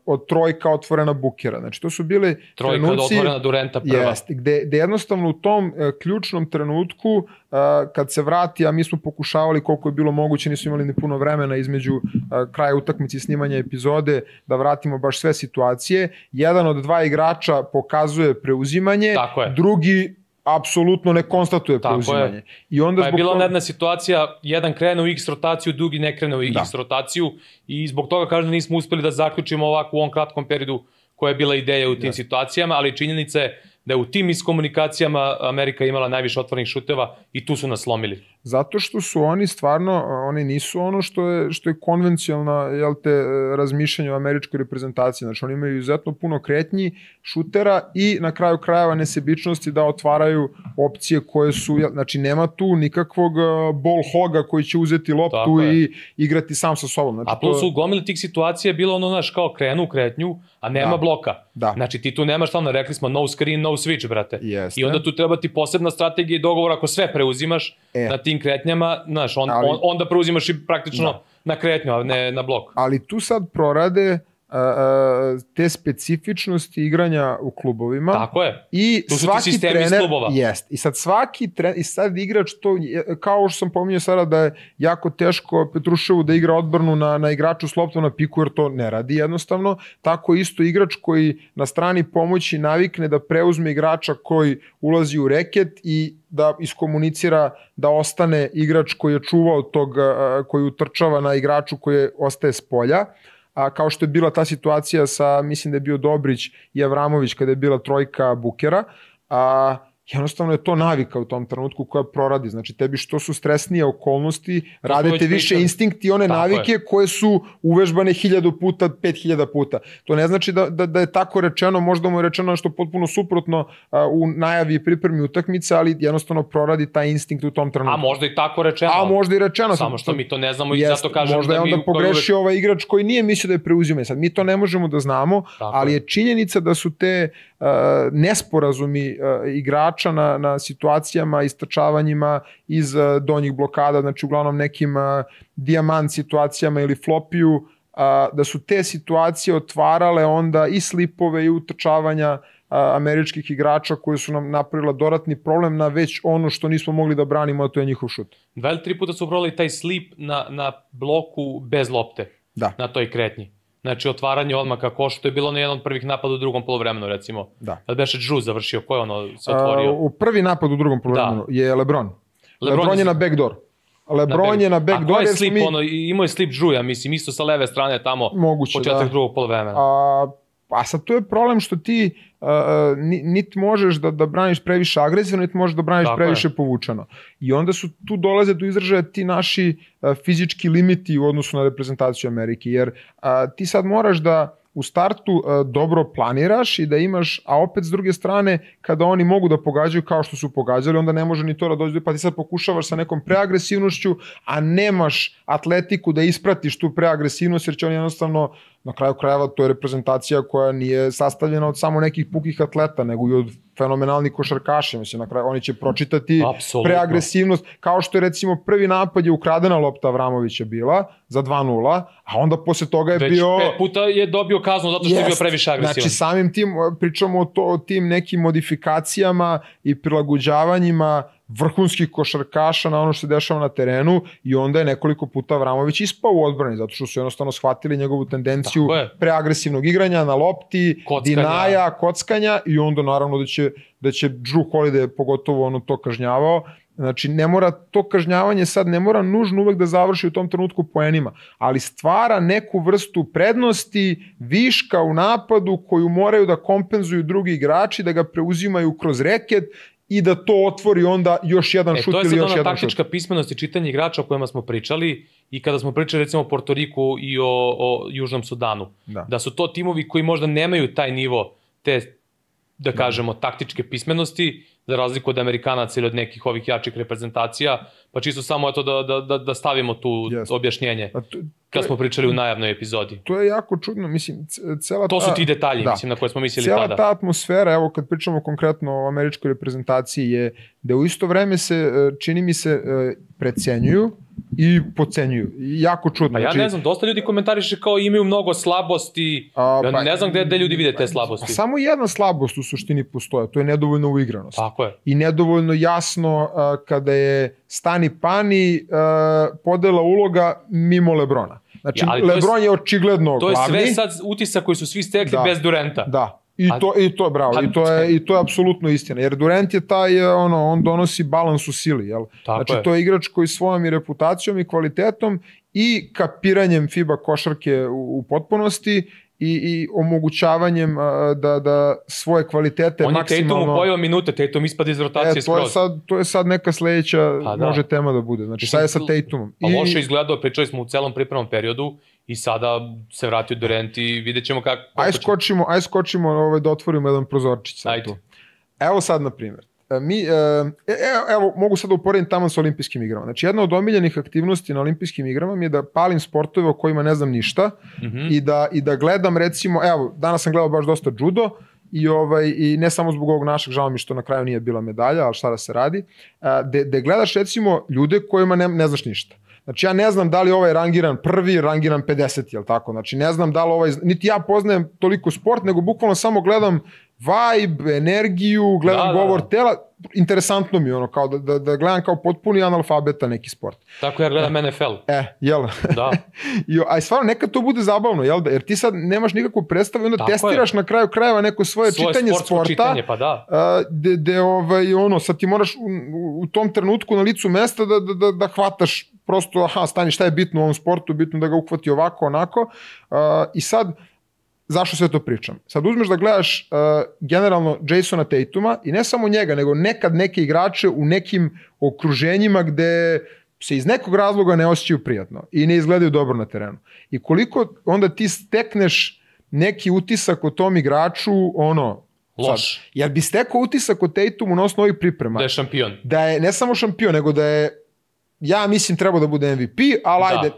od trojka otvorena Bookera. Znači to su bili trenuci... Trojka otvorena Duranta prva. Gde jednostavno u tom ključnom trenutku, kad se vrati, a mi smo pokušavali koliko je bilo moguće, nisu imali ni puno vremena između kraja utakmice i snimanja epizode, da vratimo baš sve situacije. Jedan od dva igrača pokazuje preuzimanje, drugi apsolutno ne konstatuje preuzimanje. Pa je bila jedna situacija, jedan krene u X rotaciju, drugi ne krene u X rotaciju i zbog toga kažem da nismo uspeli da zaključimo ovako u ovom kratkom periodu koja je bila ideja u tim situacijama, ali činjenica je da je u tim iskomunikacijama Amerika imala najviše otvornih šuteva i tu su nas slomili. Zato što su oni stvarno, oni nisu ono što je konvencionalno razmišljanje o američkoj reprezentaciji. Znači oni imaju izuzetno puno kretnji, šutera i na kraju krajeva nesebičnosti da otvaraju opcije koje su, znači nema tu nikakvog ball hoga koji će uzeti loptu i igrati sam sa sobom. Znači, a plus u gomili tih situacija je bilo ono, znaš, kao krenu u kretnju, a nema bloka. Znači ti tu nemaš stalno, rekli smo no screen, no switch, brate. I onda tu treba ti posebna strategija i dogovor ako sve preuzimaš na tim kretnjama, znaš, onda preuzimaš i praktično na kretnju, a ne na blok. Ali tu sad prorade te specifičnosti igranja u klubovima. Tako je. I tu su svaki ti sistemi iz klubova. Jest. I sad svaki trener, i sad igrač to, kao što sam pominjao sada da je jako teško Petruševu da igra odbranu na igraču s loptom na piku, jer to ne radi jednostavno. Tako isto igrač koji na strani pomoći navikne da preuzme igrača koji ulazi u reket i da iskomunicira da ostane igrač koji je čuvao tog, koji utrčava na igraču koji ostaje s polja. Kao što je bila ta situacija sa, mislim da je bio Dobrić i Avramović kada je bila trojka Bukera, jednostavno je to navika u tom trenutku koja proradi. Znači, tebi što su stresnije okolnosti, radite više instinkt i one navike koje su uvežbane 1000 puta, 5000 puta. To ne znači da je tako rečeno, možda mu je rečeno nešto potpuno suprotno u najavi i pripremi utakmice, ali jednostavno proradi taj instinkt u tom trenutku. A možda i tako rečeno. A možda i rečeno. Samo što mi to ne znamo i zato kažem možda je onda pogrešio ovaj igrač koji nije mislio da je preuzima. Sad, mi to ne možemo da znamo, ali je činjenica da su te nesporazumi igrača na situacijama, istračavanjima iz donjih blokada, znači uglavnom nekim dijamant situacijama ili flopiju, da su te situacije otvarale onda i slipove i utrčavanja američkih igrača koji su nam napravila dodatni problem na već ono što nismo mogli da branimo, a to je njihov šut. 2 ili 3 puta su probali taj slip na bloku bez lopte, na toj kretnji. Znači, otvaranje odmah kako što je bilo na jednom od prvih napada u drugom polovremenu, recimo. Da beše Drew završio, ko je ono se otvorio? U prvi napad u drugom polovremenu je LeBron. LeBron je na backdoor. LeBron je na backdoor. A ko je slip? Imao je slip Drew, ja mislim, isto sa leve strane tamo, početak drugog polovremena. A sad to je problem što ti niti možeš da braniš previše agresivno, niti možeš da braniš previše povučeno. I onda su tu dolaze do izražaja ti naši fizički limiti u odnosu na reprezentaciju Amerike, jer ti sad moraš da u startu dobro planiraš i da imaš, a opet s druge strane, kada oni mogu da pogađaju kao što su pogađali, onda ne može ni to da dođe, pa ti sad pokušavaš sa nekom preagresivnošću, a nemaš atletiku da ispratiš tu preagresivnost, jer će oni jednostavno, na kraju krajeva, to je reprezentacija koja nije sastavljena od samo nekih pukih atleta, nego i od fenomenalnih košarkaša. Mislim, na kraju oni će pročitati preagresivnost, kao što je recimo prvi napad je ukradena lopta Avramovića bila za 2-0, a onda posle toga je bio... Već 5 puta je dobio kaznu zato što je bio previše agresivan. Znači samim tim pričamo o tim nekim modifikacijama i prilagođavanjima vrhunskih košarkaša na ono što se dešava na terenu i onda je nekoliko puta Avramović ispao u odbrani, zato što su jednostavno shvatili njegovu tendenciju preagresivnog igranja na lopti, dinaja, kockanja i onda naravno da će Drew Holiday pogotovo ono to kažnjavao. Znači, ne mora to kažnjavanje sad, ne mora nužno uvek da završi u tom trenutku poenima, ali stvara neku vrstu prednosti, viška u napadu koju moraju da kompenzuju drugi igrači, da ga preuzimaju kroz reket i da to otvori onda još jedan šut ili još jedan šut. To je sad ona taktička pismenost i čitanje igrača o kojima smo pričali i kada smo pričali recimo o Porto Riku i o Južnom Sudanu. Da su to timovi koji možda nemaju taj nivo te, da kažemo, taktičke pismenosti, za razliku od Amerikanaca ili od nekih ovih jačih reprezentacija, pa čisto samo eto da stavimo tu objašnjenje kad smo pričali u najavnoj epizodi. To je jako čudno, mislim, to su ti detalji, mislim, na koje smo mislili tada. Cijela ta atmosfera, evo kad pričamo konkretno o američkoj reprezentaciji, je da u isto vreme se, čini mi se, precenjuju i pocenjuju. Jako čudno. Pa ja ne znam, dosta ljudi komentariše kao imaju mnogo slabosti, ja ne znam gde ljudi vide te slabosti. Samo jedna slabost u suštini postoje, to je nedovoljno uigranost. Tako je. I nedovoljno jasno kada je stani-pani podela uloga mimo LeBrona. Znači, LeBron je očigledno glavni. To je sve sad utisak koji su svi stekli bez Durenta. Da. I to je apsolutno istina, jer Durant je taj, on donosi balans u sili, jel? Znači to je igrač koji svojom i reputacijom i kvalitetom i kapiranjem FIBA košarke u potpunosti i omogućavanjem da svoje kvalitete maksimalno... On je Tatumu pojeo minute, Tatum ispada iz rotacije skroz. To je sad neka sledeća može tema da bude, znači sad je sa Tatumom. Pa loše izgledao, pričali smo u celom pripremnom periodu i sada se vratio Durant i vidjet ćemo kako... Aj skočimo da otvorimo jedan prozorčić sad tu. Evo sad, na primjer, evo, mogu sad da uporedim tamo sa olimpijskim igrama. Znači, jedna od omiljenih aktivnosti na olimpijskim igrama mi je da palim sportove o kojima ne znam ništa i da gledam, recimo, evo, danas sam gledao baš dosta judo i ne samo zbog ovog našeg, žao mi što na kraju nije bila medalja, ali šta da se radi, gde gledaš, recimo, ljude kojima ne znaš ništa. Znači ja ne znam da li ovaj rangiran prvi, rangiran 50, jel tako? Znači ne znam da li ovaj, niti ja poznajem toliko sport, nego bukvalno samo gledam vibe, energiju, gledam govor tela, interesantno mi je ono, kao da gledam kao potpuni analfabeta neki sport. Tako ja gledam NFL. Jel? Da. A stvarno nekad to bude zabavno, jel da? Jer ti sad nemaš nikakvu predstavu i onda testiraš na kraju krajeva neko svoje čitanje sporta. Čitanje, pa da. Sad ti moraš u tom trenutku na licu mesta da hvataš prosto, stani, šta je bitno u ovom sportu, bitno da ga uhvati ovako, onako. I sad, zašto sve to pričam? Sad uzmeš da gledaš generalno Jasona Tatuma i ne samo njega, nego nekad neke igrače u nekim okruženjima gde se iz nekog razloga ne osjećaju prijatno i ne izgledaju dobro na terenu. I koliko onda ti stekneš neki utisak o tom igraču, loš. Jer bi stekao utisak o Tatumu na osnovu ovih priprema. Da je šampion. Da je ne samo šampion, nego da je, ja mislim, trebao da bude MVP, ali ajde,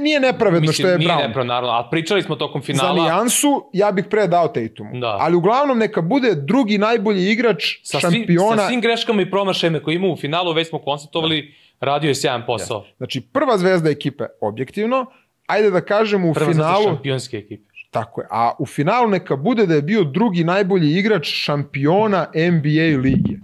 nije nepravedno što je Brown. Nije nepravedno, naravno, ali pričali smo tokom finala. Za nijansu, ja bih pre dao Tatumu. Ali uglavnom neka bude drugi najbolji igrač šampiona. Sa svim greškama i promašajima koje ima u finalu, već smo konstatovali, radio je sjajan posao. Znači, prva zvezda ekipe, objektivno, ajde da kažemo u finalu... Prva zvezda šampionske ekipe. Tako je, a u finalu neka bude da je bio drugi najbolji igrač šampiona NBA lige,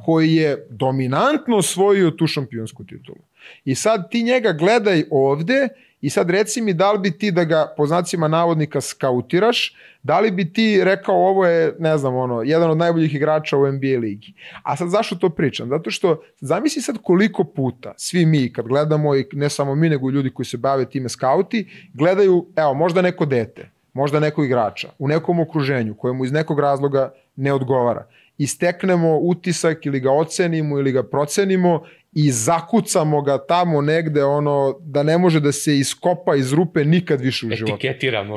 koji je dominantno osvojio tu šampionsku titulu. I sad ti njega gledaj ovde i sad reci mi da li bi ti da ga po znacima navodnika skautiraš, da li bi ti rekao ovo je, ne znam, jedan od najboljih igrača u NBA ligi. A sad zašto to pričam? Zato što zamisli sad koliko puta svi mi kad gledamo, i ne samo mi nego ljudi koji se bave time skauti, gledaju, evo, možda neko dete, možda nekog igrača u nekom okruženju kojemu iz nekog razloga ne odgovara. I steknemo utisak ili ga ocenimo ili ga procenimo i zakucamo ga tamo negde da ne može da se iskopa iz rupe nikad više u životu.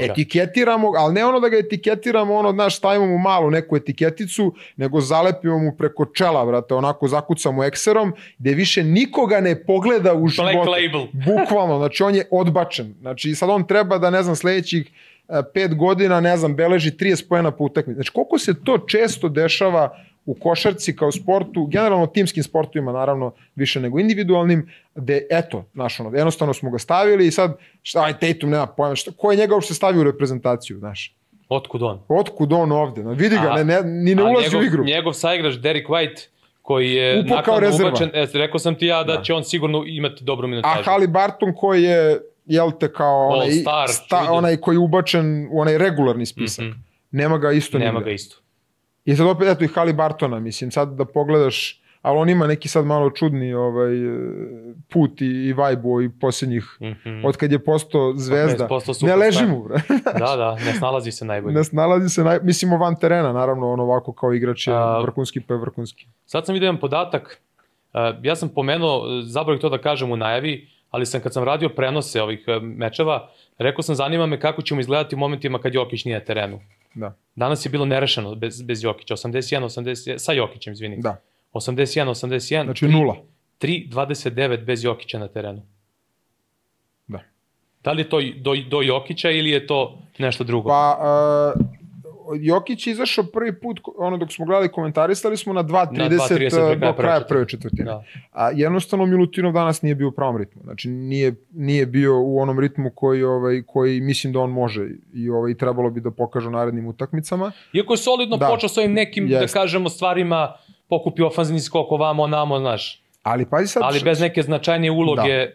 Etiketiramo ga, ali ne da ga etiketiramo, stavimo mu malu neku etiketicu, nego zalepimo mu preko čela, brate, onako zakucamo ekserom, gde više nikoga ne pogleda u životu. Black label. Bukvalno, znači on je odbačen. Znači sad on treba da, ne znam, sledećih 5 godina, ne znam, beleži 30 poena po utakmici. Znači, koliko se to često dešava u košarci kao sportu, generalno timskim sportovima, naravno, više nego individualnim, gde, eto, jednostavno smo ga stavili i sad, Tatum nema pojma, ko je njega uopšte stavio u reprezentaciju, znaš? Otkud on? Otkud on ovde? Vidi ga, ni ne ulazi u igru. Njegov saigrač Derek White, koji je nakon ubačen, rekao sam ti ja da će on sigurno imati dobru minutažu. A Haliburton koji je, jel te, kao onaj koji je ubačen u onaj regularni spisak. Nema ga isto nigde. Nema ga isto. I sad opet, eto, i Haliburtona, mislim, sad da pogledaš, ali on ima neki sad malo čudni put i vibe i posljednjih, od kad je postao zvezda. Ne leži mu, bre. Da, ne snalazi se najbolje. Mislimo van terena, naravno, ovako kao igrač je vrhunski pa je vrhunski. Sad sam vidio jedan podatak, ja sam pomenuo, zaboravih to da kažem u najavi, ali kad sam radio prenose ovih mečeva, rekao sam, zanima me kako ćemo izgledati u momentima kad Jokić nije na terenu. Da. Danas je bilo nerešeno bez Jokića, 81-80, sa Jokićem, izvini. Da. 81-81. Znači 0. 3-29 bez Jokića na terenu. Da. Da li je to do Jokića ili je to nešto drugo? Pa, Jokić je izašao prvi put, dok smo gledali komentarisali smo na 2.30 do kraja prve četvrtine. A jednostavno Milutinov danas nije bio u pravom ritmu. Znači nije bio u onom ritmu koji mislim da on može i trebalo bi da pokaže u narednim utakmicama. Iako je solidno počeo s ovim nekim, da kažemo, stvarima, pokupio ofanzivni skok ovamo, onamo, znaš. Ali bez neke značajnije uloge.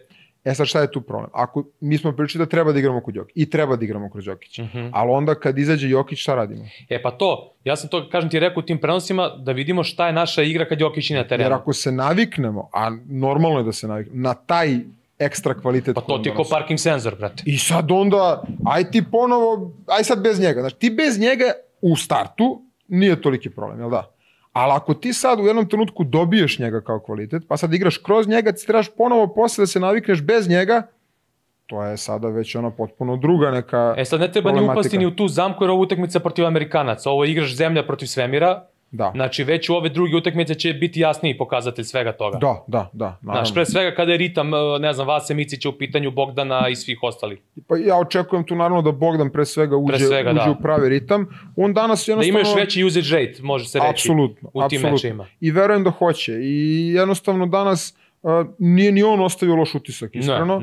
Sad šta je tu problem? Ako mi smo pričali da treba da igramo kod Jokića i treba da igramo kroz Jokića, ali onda kad izađe Jokić šta radimo? Pa to, ja sam to, kažem ti, rekao u tim prenosima da vidimo šta je naša igra kad Jokić je na terenu. Jer ako se naviknemo, a normalno je da se naviknemo, na taj ekstra kvalitet. Pa to ti je ko parking senzor, brate. I sad onda, aj ti ponovo, aj sad bez njega. Znači ti bez njega u startu nije toliki problem, jel da? Ali ako ti sad u jednom trenutku dobiješ njega kao kvalitet, pa sad igraš kroz njega, ti trebaš ponovo posle da se navikneš bez njega, to je sada već potpuno druga neka sad ne treba ni upasti ni u tu zamku jer ovo utakmica protiv Amerikanaca, ovo igraš zemlja protiv svemira, znači već u ove druge utakmice će biti jasniji pokazatelj svega toga. Da. Znaš, pre svega kada je ritam, ne znam, Vase Micića u pitanju, Bogdana i svih ostalih. Pa ja očekujem tu naravno da Bogdan pre svega uđe u pravi ritam. On danas jednostavno... Da ima još veći usage rate, može se reći, u tim mečima. I verujem da hoće. I jednostavno danas nije ni on ostavio loš utisak, iskreno.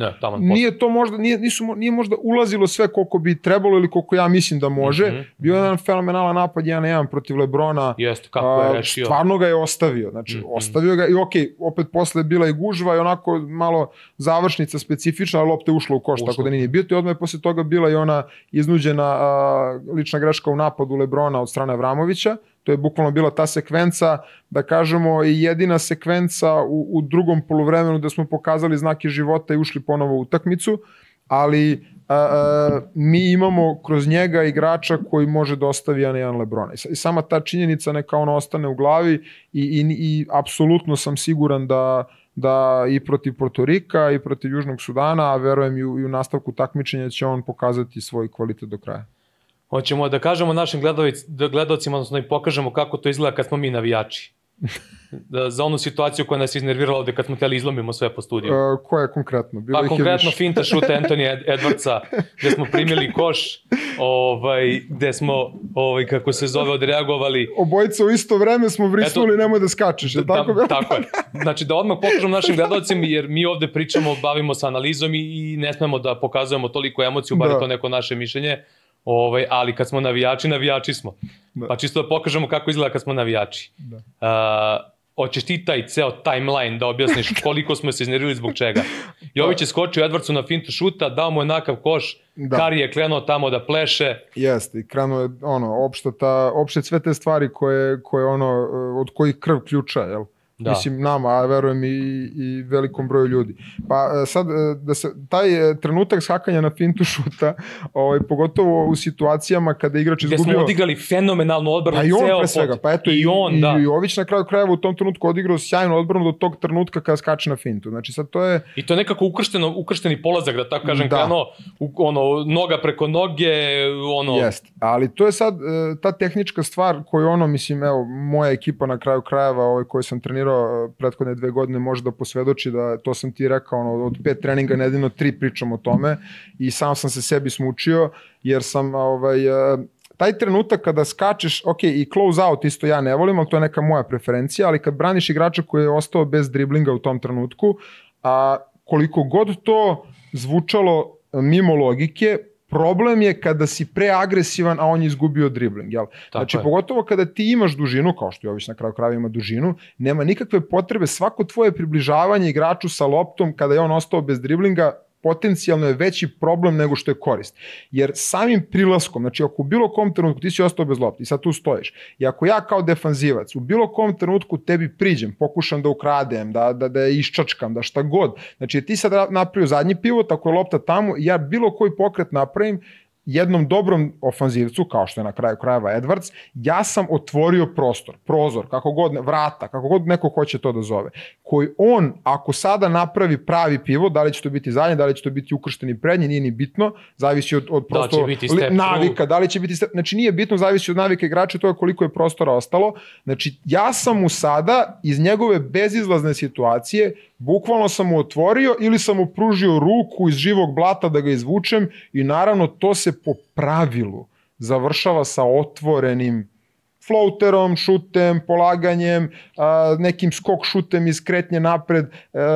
Nije možda ulazilo sve koliko bi trebalo ili koliko ja mislim da može. Bio je jedan fenomenalan napad 1-1 protiv Lebrona. Stvarno ga je ostavio. Znači, ostavio ga i opet posle bila i gužva i onako malo završnica specifična, ali lopta je ušla u koš, tako da nije bio. I odmah je posle toga bila i ona iznuđena lična greška u napadu Lebrona od strane Avramovića. To je bukvalno bila ta sekvenca, da kažemo, i jedina sekvenca u drugom poluvremenu da smo pokazali znake života i ušli ponovo u utakmicu, ali mi imamo kroz njega igrača koji može da ostavi 1-1 Lebrona. I sama ta činjenica neka ono ostane u glavi i apsolutno sam siguran da i protiv Portorika i protiv Južnog Sudana, a verujem i u nastavku takmičenja će on pokazati svoj kvalitet do kraja. Hoćemo da kažemo našim gledalcima, odnosno i pokažemo kako to izgleda kad smo mi navijači. Za onu situaciju koja nas iznervirala ovde kad smo htjeli izlomimo sve po studiju. Koja je konkretno? Pa konkretno finta šuta Anthony Edwardsa, gde smo primili koš, gde smo, kako se zove, odreagovali. Obojica u isto vreme smo vrisnuli, nemoj da skačeš, je tako? Tako je. Znači da odmah pokažemo našim gledalcima, jer mi ovde pričamo, bavimo se analizom i ne smemo da pokazujemo toliko emociju, bar je to neko naše mišljenje. Ali kad smo navijači, navijači smo. Pa čisto da pokažemo kako izgleda kad smo navijači. Hoćeš ti taj ceo timeline da objasniš koliko smo se iznervili zbog čega. Jović je skočio Edwardsu na fintu šuta, dao mu je nakav koš, Kari je krenuo tamo da pleše. Jeste, i krenuo je opšte sve te stvari od kojih krv ključa, jel? Mislim nama, a verujem i velikom broju ljudi. Pa sad, taj trenutak skakanja na fintu šuta, pogotovo u situacijama kada igrač izgubio... Gde smo odigrali fenomenalnu odbranu ceo pot. Pa eto, i Jović na kraju krajeva u tom trenutku odigrao sjajnu odbranu do tog trenutka kada skače na fintu. Znači sad to je... I to je nekako ukršteni polazak, da tako kažem, krenuo, noga preko noge, Jeste, ali to je sad ta tehnička stvar koju mislim, evo, moja ekipa na kraju krajeva koju sam trenirao prethodne 2 godine može da posvedoči da to sam ti rekao, od 5 treninga nedeljno 3 pričam o tome i sam sam se sebi smučio jer sam taj trenutak kada skačeš, i close out isto ja ne volim, ali to je neka moja preferencija, ali kad braniš igrača koji je ostao bez driblinga u tom trenutku, koliko god to zvučalo mimo logike, problem je kada si preagresivan, a on je izgubio dribling. Znači, pogotovo kada ti imaš dužinu, kao što Jović na kraju krajeva ima dužinu, nema nikakve potrebe, svako tvoje približavanje igraču sa loptom kada je on ostao bez driblinga, potencijalno je veći problem nego što je korist. Jer samim prilaskom, znači ako u bilo kom trenutku ti si ostao bez lopte i sad tu stojiš, i ako ja kao defanzivac u bilo kom trenutku tebi priđem, pokušam da ukradem, da je iščačkam, da šta god, znači ti sad napravio zadnji pivot, ako je lopta tamo, ja bilo koji pokret napravim, jednom dobrom ofanzivcu, kao što je na kraju krajeva Edwards, ja sam otvorio prostor, prozor, kako god, vrata, kako god neko hoće to da zove, koji on, ako sada napravi pravi pivot, da li će to biti zadnji, da li će to biti ukršteni prednji, nije ni bitno, zavisi od prosto navika, da li će biti step, znači nije bitno, zavisi od navika igrača, to je koliko je prostora ostalo, znači ja sam mu sada iz njegove bezizlazne situacije bukvalno sam mu otvorio ili sam mu pružio ruku iz živog blata da ga izvučem i naravno to se po pravilu završava sa otvorenim floaterom, šutem, polaganjem, nekim skok šutem iz kretnje napred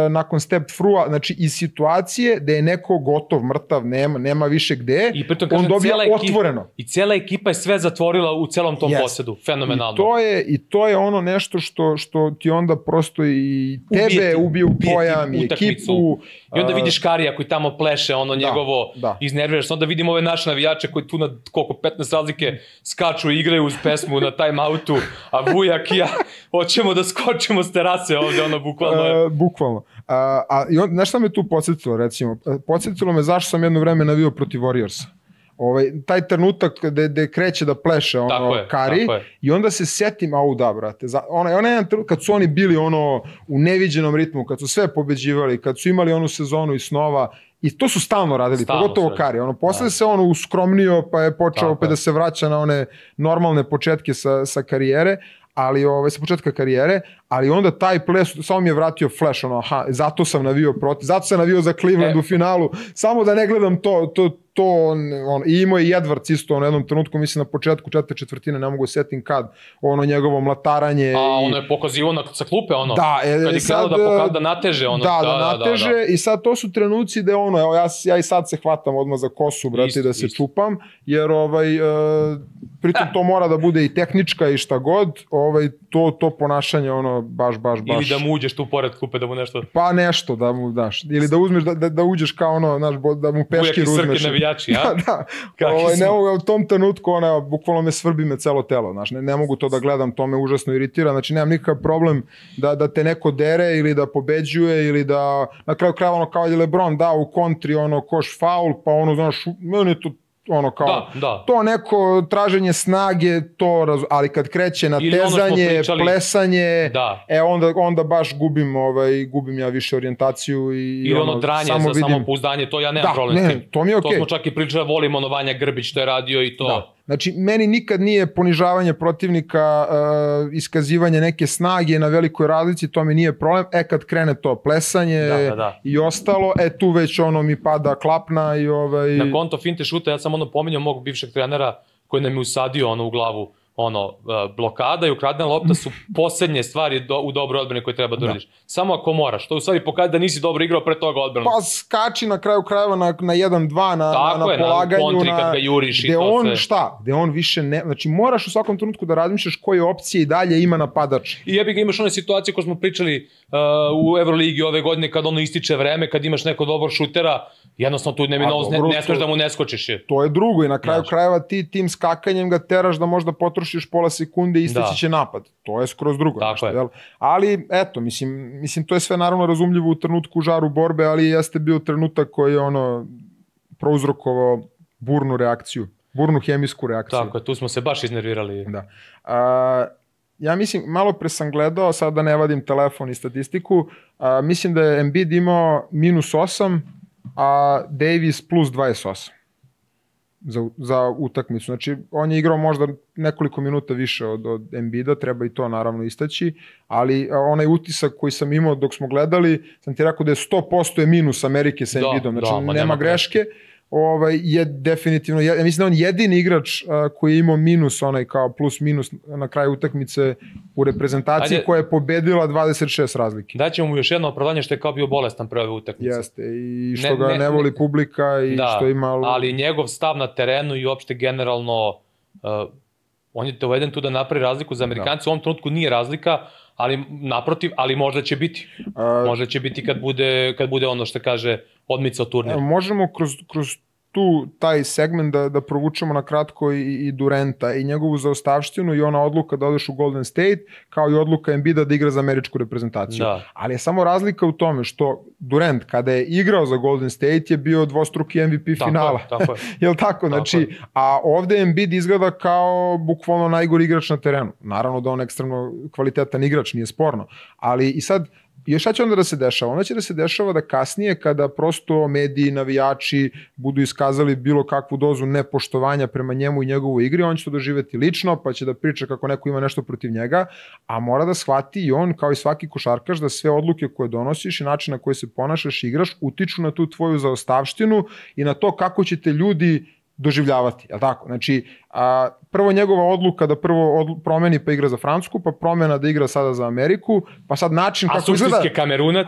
nakon step througha, znači iz situacije da je neko gotov, mrtav, nema više gde, on dobija otvoreno. I cijela ekipa je sve zatvorila u celom tom posedu, fenomenalno. I to je ono nešto što ti onda prosto i tebe ubije u pojam, i ekipu. I onda vidiš Karija koji tamo pleše, njegovo iznerviraš, onda vidimo ove naše navijače koji tu na koliko 15 razlike skaču i igraju uz pesmu na time-outu, a Vujak i ja hoćemo da skočimo s terase ovde, bukvalno. Bukvalno. Znaš šta me tu podsjetilo, recimo? Podsjetilo me zašto sam jedno vreme navio protiv Warriorsa. Taj trenutak gde kreće da pleše Kari i onda se setim, brate, kad su oni bili u neviđenom ritmu, kad su sve pobeđivali, kad su imali onu sezonu i snova, i to su stalno radili, pogotovo Kari. Posle se uskromnio pa je počeo da se vraća na one normalne početke sa karijere, sa početka karijere, ali onda taj ples, samo mi je vratio flash, ono, aha, zato sam navio protiv, zato sam navio za Cleveland u finalu, samo da ne gledam to i imao je Edwards isto u jednom trenutku, mislim na početku četvrte četvrtine, ne mogu setim kad, ono njegovo mlatarenje. Ono je pokazivo sa klupe, ono, kad je krenuo da nateže, ono. Da nateže i sad to su trenuci gde ono, evo ja i sad se hvatam odmah za kosu, brate, da se čupam, jer pritom to mora da bude i tehnička i šta god, to ponašanje, ono, baš. Ili da mu uđeš tu pored klupe, da mu nešto... Pa nešto da mu daš, ili da uzmeš, da uđeš kao ono, znaš, da mu peškir uzmeš. Navijači, ja? Da. U tom trenutku, bukvalno me svrbi me celo telo, znaš, ne mogu to da gledam, to me užasno iritira, znači nemam nikakav problem da te neko dere ili da pobeđuje ili da, na kraju krajeva ono kao je LeBron dao u kontri, ono, koš faul, pa ono, znaš, meni je to ono kao, to neko traženje snage, ali kad kreće na tezanje, plesanje, onda baš gubim ja više orijentaciju i ono dranje za samopouzdanje, to ja nemam problem s tim. To mi je okej. To smo čak i pričali, volimo ono Vanja Grbić što je radio i to. Znači, meni nikad nije ponižavanje protivnika, iskazivanje neke snage na velikoj razlici, to mi nije problem. Kad krene to plesanje i ostalo, tu već ono mi pada klapna i Na konto finte šuta, ja sam ono pominjao mog bivšeg trenera koji nam je usadio ono u glavu, blokada i ukradena lopta su posljednje stvari u dobroj odbrani koje treba da uradiš. Samo ako moraš. To u stvari pokaže da nisi dobro igrao pre toga odbranu. Pa skači na kraju krajeva na 1-2, na polaganju. Tako je, na kontri kad ga juriš i to sve. Šta? Gde on više ne... Znači moraš u svakom trenutku da razmišljaš koje opcije i dalje ima napadač. I jebi ga, imaš one situacije koje smo pričali u Euroligi ove godine kad ono ističe vreme, kad imaš neko dobro šutera, jednostavno tu ne smeš da mu ne skočiš. To je drugo i na kraju krajeva ti tim skakanjem ga teraš da možda potrošiš pola sekunde i isteći će napad. To je skroz drugo. Ali, eto, mislim, to je sve naravno razumljivo u trenutku žaru borbe, ali jeste bio trenutak koji je prouzrokovao burnu reakciju, burnu hemijsku reakciju. Tako je, tu smo se baš iznervirali. Da. Ja mislim, malo pre sam gledao, sad da ne vadim telefon i statistiku, mislim da je Embiid imao -8, a Davis +28 za utakmicu. Znači, on je igrao možda nekoliko minuta više od Embida, treba i to naravno istaći, ali onaj utisak koji sam imao dok smo gledali, sam ti rekao da je 100% je minus Amerike sa Embidom, znači nema greške. Je definitivno, ja mislim da je on jedini igrač koji je imao minus, onaj kao plus minus na kraju utakmice u reprezentaciji koja je pobedila 26 razlike. Daćemo mu još jedno opravdanje što je kao bio bolestan pre ove utakmice. Jeste, i što ga ne voli publika i što ima... Ali njegov stav na terenu i uopšte generalno, on je doveden tu da napravi razliku za Amerikanci, u ovom trenutku nije razlika, ali naprotiv, ali možda će biti. Možda će biti kad bude ono što kaže odmicao turnir. Možemo kroz taj segment da provučemo na kratko i Durenta i njegovu zaostavštinu i ona odluka da odeš u Golden State, kao i odluka Embida da igra za američku reprezentaciju. Ali je samo razlika u tome što Durant kada je igrao za Golden State je bio dvostruki MVP finala. Jel tako? Znači, a ovde Embiid izgleda kao bukvalno najgori igrač na terenu. Naravno da on ekstremno kvalitetan igrač, nije sporno. Ali i sad, još šta će onda da se dešava? Onda će da se dešava da kasnije kada prosto mediji, navijači budu iskazali bilo kakvu dozu nepoštovanja prema njemu i njegovoj igri, on će to doživeti lično, pa će da priča kako neko ima nešto protiv njega, a mora da shvati i on, kao i svaki košarkaš, da sve odluke koje donosiš i način na koji se ponašaš i igraš utiču na tu tvoju zaostavštinu i na to kako će te ljudi doživljavati, je li tako? Znači, prvo njegova odluka da prvo promeni pa igra za Francusku, pa promena da igra sada za Ameriku, pa sad način kako izgleda... A suštinski Kamerunac?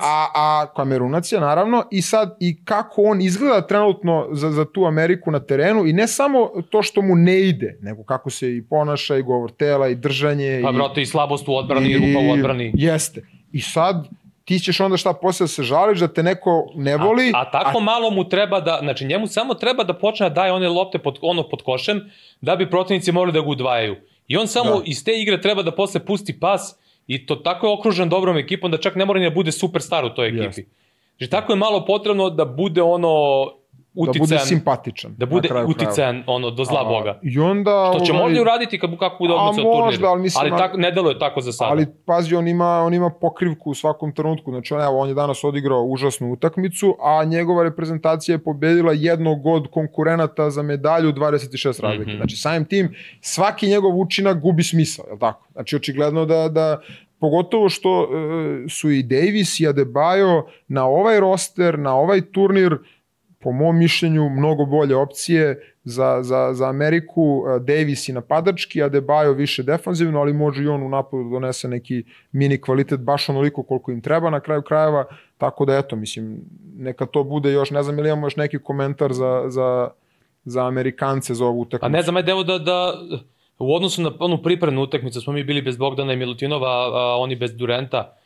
Kamerunac je, naravno, i sad i kako on izgleda trenutno za tu Ameriku na terenu i ne samo to što mu ne ide, nego kako se i ponaša i govor tela i držanje. Pa brate, i slabost u odbrani i rupa u odbrani. Jeste. I sad... ti ćeš onda šta posle da se žališ, da te neko ne voli. A tako malo mu treba da, znači njemu samo treba da počne da daje one lopte pod košem, da bi protivnici morali da ga udvajaju. I on samo iz te igre treba da posle pusti pas i to tako je okružen dobrom ekipom da čak ne mora ni da bude superstar u toj ekipi. Znači tako je malo potrebno da bude ono uticajan. Da bude simpatičan. Da bude uticajan do zla Boga. I onda... Što će možda uraditi kako bude odmicao turnir. Ali ne deluje tako za sada. Ali pazi, on ima pokrivku u svakom trenutku. Znači on je danas odigrao užasnu utakmicu, a njegova reprezentacija je pobedila jednog od konkurenata za medalju 26 razlike. Znači samim tim svaki njegov učinak gubi smisao, je li tako? Znači očigledno da pogotovo što su i Davis i Adebayo na ovaj roster, na ovaj turnir, po mom mišljenju, mnogo bolje opcije za Ameriku. Davis i napadački, Adebayo više defanzivno, ali može i on u napadu da donese neki mini kvalitet, baš onoliko koliko im treba na kraju krajeva, tako da eto, mislim, neka to bude još, ne znam ili imamo još neki komentar za Amerikance za ovu utakmicu. A ne znam, ajde evo da u odnosu na onu pripremnu utakmicu smo mi bili bez Bogdana i Milutinova, a oni bez Durenta.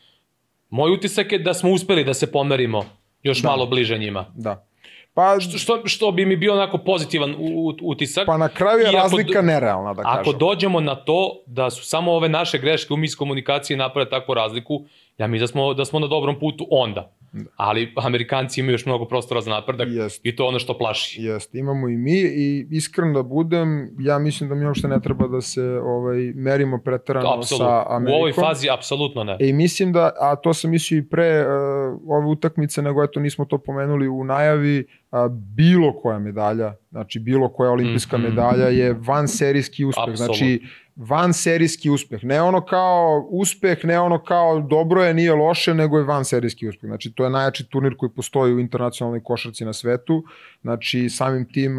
Moj utisak je da smo uspeli da se pomerimo još malo bliže njima. Da. Pa, što bi mi bio onako pozitivan utisak. Pa na kraju je razlika nerealna, da kažem. Ako dođemo na to da su samo ove naše greške u miskomunikaciji naprave takvu razliku, ja mislim da smo na dobrom putu onda. Ali Amerikanci imaju još mnogo prostora za napredak i to je ono što plaši. Jeste, imamo i mi i iskreno da budem, ja mislim da mi uopšte ne treba da se merimo preterano sa Amerikom. U ovoj fazi apsolutno ne. I mislim da, a to sam mislio i pre ove utakmice, nego eto nismo to pomenuli u najavi, bilo koja medalja, znači bilo koja olimpijska medalja je vanserijski uspeh. Apsolutno. Znači vanserijski uspeh. Ne ono kao uspeh, ne ono kao dobro je, nije loše, nego je vanserijski uspeh. Znači to je najjači turnir koji postoji u internacionalnoj košarci na svetu. Znači samim tim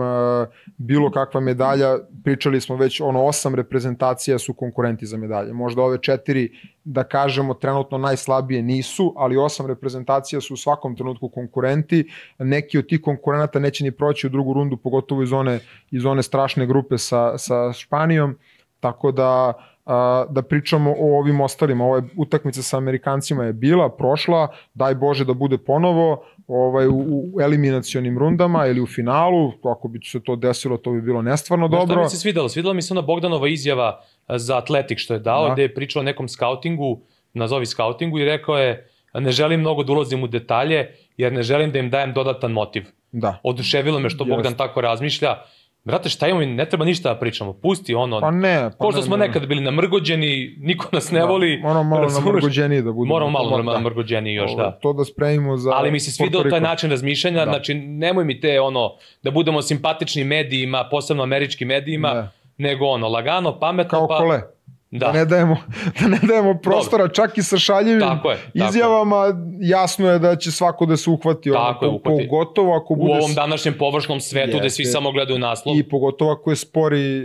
bilo kakva medalja, pričali smo već 8 reprezentacija su konkurenti za medalje. Možda ove 4, da kažemo, trenutno najslabije nisu, ali 8 reprezentacija su u svakom trenutku konkurenti. Neki od tih konkurenata neće ni proći u drugu rundu, pogotovo iz one strašne grupe sa Španijom. Tako da pričamo o ovim ostalima. Ova utakmica sa Amerikancima je bila, prošla, daj Bože da bude ponovo u eliminacionim rundama ili u finalu, ako bi se to desilo, to bi bilo nestvarno dobro. Što mi se svidelo mi se ona Bogdanova izjava za Atletik što je dao, gde je pričao o nekom skautingu, nazovi skautingu, i rekao je, ne želim mnogo da ulazim u detalje, jer ne želim da im dajem dodatan motiv. Oduševilo me što Bogdan tako razmišlja. Brate, šta imamo, ne treba ništa da pričamo, pusti ono, ko što smo nekada bili namrgođeni, niko nas ne voli. Moramo malo namrgođeniji da budemo. Moramo malo namrgođeniji još, da. To da spremimo za... Ali mi se svidao taj način razmišljanja, znači nemoj mi te da budemo simpatični medijima, posebno američkim medijima, nego lagano, pametno. Kao Kole. Da ne dajemo prostora, čak i sa šaljivim izjavama, jasno je da će svako da se uhvati. Pogotovo ako bude... U ovom današnjem površnom svetu gde svi samo gledaju naslov. I pogotovo ako je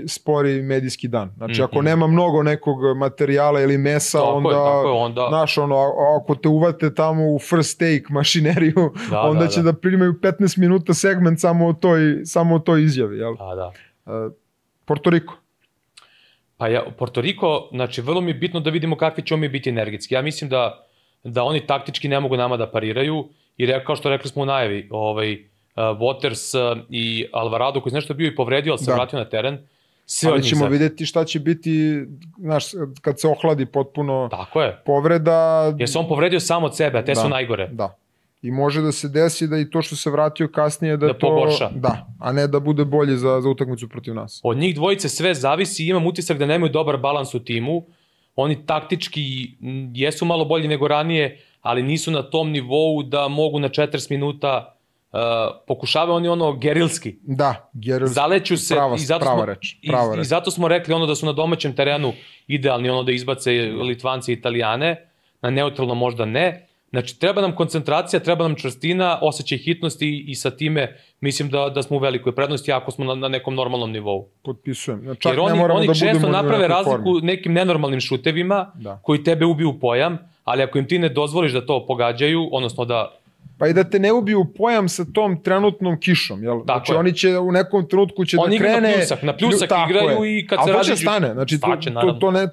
spori medijski dan. Znači ako nema mnogo nekog materijala ili mesa, onda, znaš, ako te uvate tamo u first take mašineriju, onda će da primaju 15 minuta segment samo o toj izjavi. Porto Riko. Pa Porto Riko, znači vrlo mi je bitno da vidimo kakvi ćemo mi biti energetski. Ja mislim da oni taktički ne mogu nama da pariraju, jer kao što rekli smo u najavi, Waters i Alvarado koji je nešto bio i povredio, ali se vratio na teren, sve od njih ćemo vidjeti šta će biti, znaš, kad se ohladi potpuno povreda. Jer se on povredio sam od sebe, a te su najgore. Da. I može da se desi da i to što se vratio kasnije da to pogorša. A ne da bude bolje za utakmicu protiv nas. Od njih dvojice sve zavisi, imam utisak da nemaju dobar balans u timu. Oni taktički jesu malo bolji nego ranije, ali nisu na tom nivou da mogu na 40 minuta pokušavaju oni gerilski. Da, gerilski. Zaleću se prava reč. I zato smo rekli da su na domaćem terenu idealni da izbace Litvance i Italijane, na neutralno možda ne. Znači, treba nam koncentracija, treba nam čvrstina, osjećaj hitnosti i sa time mislim da smo u velikoj prednosti ako smo na nekom normalnom nivou. Potpisujem. Jer oni često naprave razliku nekim nenormalnim šutevima koji tebe ubiju u pojam, ali ako im ti ne dozvoliš da to pogađaju, odnosno da... Pa i da te ne ubiju pojam sa tom trenutnom kišom, jel? Znači oni će u nekom trenutku će da krene... Na pljusak igraju i kad se rađe... Ali to će stane, znači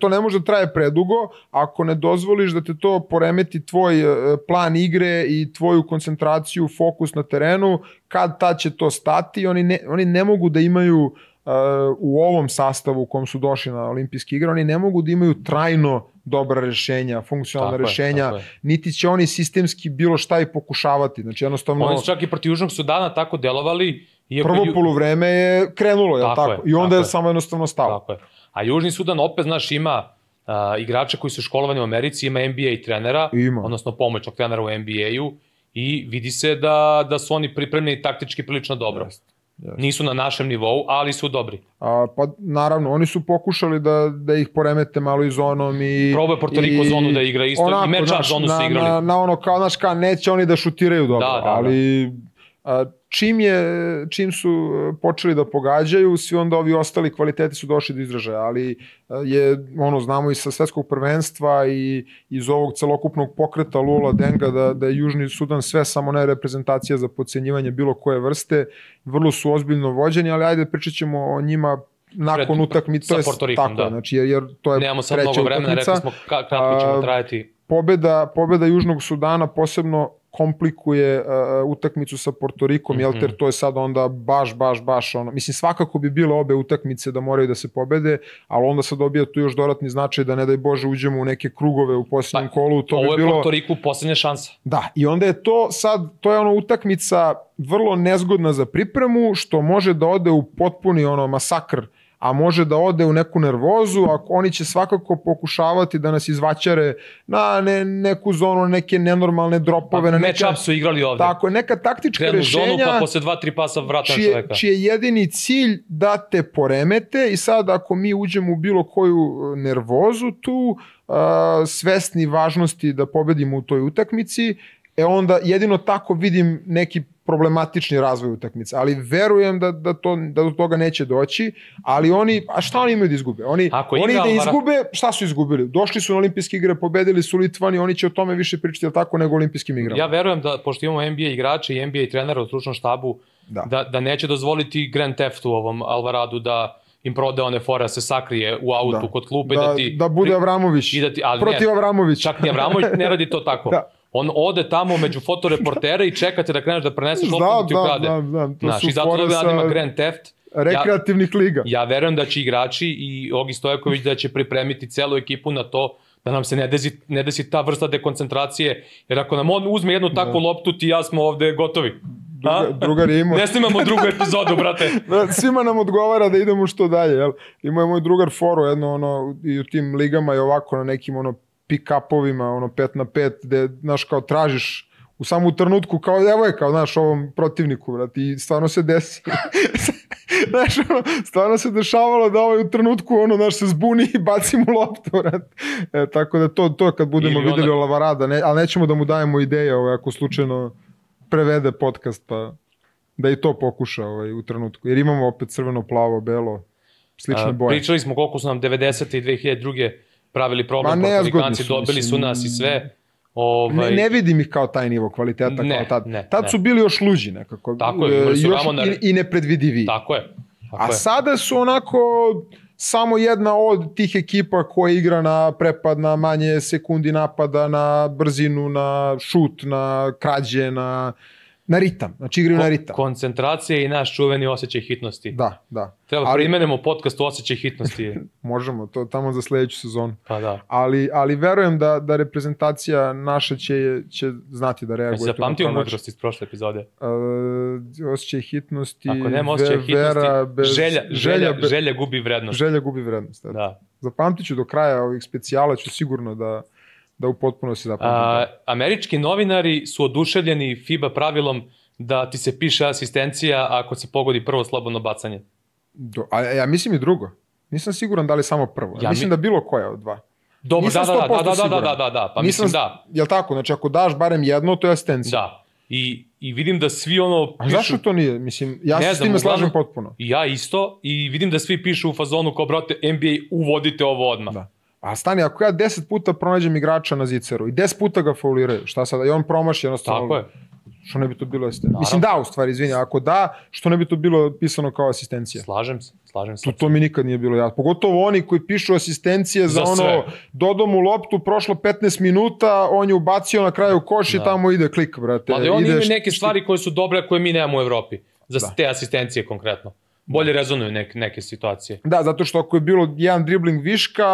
to ne može da traje predugo, ako ne dozvoliš da te to poremeti tvoj plan igre i tvoju koncentraciju, fokus na terenu, kad tad će to stati, oni ne mogu da imaju u ovom sastavu u kom su došli na olimpijske igre, oni ne mogu da imaju trajno dobra rešenja, funkcionalna rešenja, niti će oni sistemski bilo šta i pokušavati. Znači jednostavno... Oni su čak i protiv Južnog Sudana tako delovali. Prvo poluvreme je krenulo, je li tako? I onda je samo jednostavno stalo. Tako je. A Južni Sudan opet, znaš, ima igrača koji su školovani u Americi, ima NBA trenera, odnosno pomoćnog trenera u NBA-u i vidi se da su oni pripremljeni taktički prilično dobro. Nisu na našem nivou, ali su dobri. Pa naravno, oni su pokušali da ih poremete malo i zonom i... Probao je Porto Riko zonu da igra isto, onako, i match-up zonu su igrali. Na ono kao, znaš kao, neće oni da šutiraju dobro, ali... Čim su počeli da pogađaju, svi onda ovi ostali kvaliteti su došli do izražaja, ali je, znamo i sa svetskog prvenstva i iz ovog celokupnog pokreta Lula Denga da je Južni Sudan sve samo ne reprezentacija za podcenjivanje bilo koje vrste, vrlo su ozbiljno vođeni, ali ajde pričat ćemo o njima nakon utakmice, to je tako, znači jer to je nemamo sad mnogo vremena, rekli smo kratko ćemo trajati. Pobeda Južnog Sudana posebno komplikuje utakmicu sa Porto Rikom, jer to je sad onda baš ono, mislim svakako bi bile obe utakmice da moraju da se pobede, ali onda se dobija tu još dodatni značaj da ne daj Bože uđemo u neke krugove u posljednjem kolu, to bi bilo... Ovo je Porto Riku poslednja šansa. Da, i onda je to sad, to je ono utakmica vrlo nezgodna za pripremu, što može da ode u potpuni masakr, a može da ode u neku nervozu, a oni će svakako pokušavati da nas izvaćare na neku zonu, neke nenormalne dropove. Match-up su igrali ovde. Tako, neka taktička rešenja. Krenu zonu, pa posle 2-3 pasa vrata na čoveka. Čiji je jedini cilj da te poremete i sad ako mi uđemo u bilo koju nervozu tu, svesni važnosti da pobedimo u toj utakmici, onda jedino tako vidim neki problematični razvoj utakmice, ali verujem da do toga neće doći, ali a šta oni imaju da izgube? Oni da izgube, šta su izgubili? Došli su na olimpijske igre, pobedili su Litvani, oni će o tome više pričati, ali tako, nego olimpijskim igrama. Ja verujem da, pošto imamo NBA igrače i NBA trenera u stručnom štabu, da neće dozvoliti Grand Theftu ovom Alvaradu da im prode one fore, se sakrije u autu kod klupe. Da bude Avramović, protiv Avramovića. Čak ni Avramović ne radi to tako. On ode tamo među fotoreportere i čekate da kreneš da preneseš loptu ti ukrade. I zato da ima Grand Theft. Rekreativnih liga. Ja verujem da će igrači i Ogi Stojaković da će pripremiti celu ekipu na to da nam se ne desi ta vrsta dekoncentracije, jer ako nam on uzme jednu takvu loptu, ti i ja smo ovde gotovi. Drugar je imao... Ne snimamo drugu epizodu, brate. Svima nam odgovara da idemo što dalje, jel? Imao je moj drugar foru, jedno, i u tim ligama i ovako na nekim, pick-upovima, 5 na 5, gde, znaš, kao tražiš u samu trenutku, kao devojka, znaš, ovom protivniku, brate, i stvarno se desi. Znaš, stvarno se dešavalo da u trenutku, znaš, se zbuni i baci mu loptu, brate. Tako da to kad budemo videli o Lavarada, ali nećemo da mu dajemo ideje, ako slučajno prevede podcast, pa da i to pokuša u trenutku, jer imamo opet crveno, plavo, belo, slične boje. Pričali smo koliko su nam 90. i 2002. pravili problem, Portorikanci dobili su nas i sve. Ne vidim ih kao taj nivo kvaliteta kao tad. Tad su bili još luđi nekako. Tako je, imali su Ramona i nepredvidivi. Tako je. A sada su onako samo jedna od tih ekipa koja igra na prepad, na manje sekundi napada, na brzinu, na šut, na krađe, na ritam, znači igraju na ritam. Koncentracija i naš čuveni osjećaj hitnosti. Da. Treba primenemo podcast u osjećaj hitnosti. Možemo, to tamo za sledeću sezonu. Pa da. Ali verujem da reprezentacija naša će znati da reaguje. Znači zapamtio mudrost iz prošle epizode. Osjećaj hitnosti, ako nema osjećaj hitnosti, želja gubi vrednost. Želja gubi vrednost, da. Zapamtit ću do kraja ovih specijala, ću sigurno da u potpunosti zapamtim. Američki novinari su oduševljeni FIBA pravilom da ti se piše asistencija ako se pogodi prvo slobodno bacanje. Ja mislim i drugo. Nisam siguran da li samo prvo. Mislim da bilo koja od dva. Dobro, da, pa mislim da. Jel tako? Znači ako daš barem jedno, to je asistencija. Da. I vidim da svi pišu... A zašto to nije? Mislim, ja se s time slažem potpuno. I ja isto. I vidim da svi pišu u fazonu kao, brate, NBA, uvodite ovo odmah. Da. A stani, ako ja 10 puta pronađem igrača na ziceru i 10 puta ga fauliraju, šta sada? I on promaši jednostavno... Tako je. Što ne bi to bilo asistencija? Mislim da, u stvari, izvini, ako da, što ne bi to bilo pisano kao asistencija? Slažem se. To mi nikad nije bilo jasno. Pogotovo oni koji pišu asistencije za dodao mu loptu, prošlo 15 minuta, on je ubacio na kraju koš i tamo ide klik, brate. Ali oni imaju neke stvari koje su dobre, koje mi nemamo u Evropi. Za te asistencije konkretno. Bolje rezonuju neke situacije. Da, zato što ako je bilo jedan dribling viška,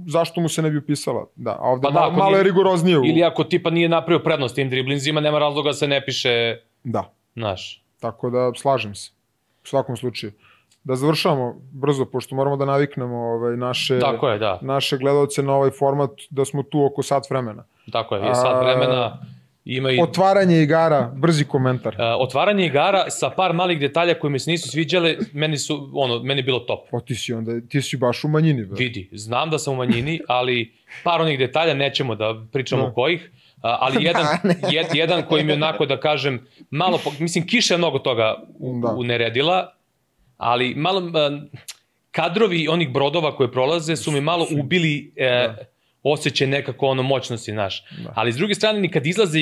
zašto mu se ne bi upisala? Da, ovde malo je rigoroznije. Ili ako tipa nije napravio prednost tim driblinzima, nema razloga se ne piše naš. Tako da slažem se. U svakom slučaju. Da završamo brzo, pošto moramo da naviknemo naše gledalce na ovaj format, da smo tu oko sat vremena. Tako je, sat vremena. Otvaranje igara, brzi komentar. Otvaranje igara sa par malih detalja koji mi se nisu sviđale, meni je bilo top. Ti si baš u manjini. Vidi, znam da sam u manjini, ali par onih detalja nećemo da pričamo kojih, ali jedan koji mi onako da kažem, malo, mislim kiša je mnogo toga uneredila, ali malo kadrovi onih brodova koje prolaze su mi malo ubili osjećaj nekako moćnosti naš. Ali s druge strane, ni kad izlaze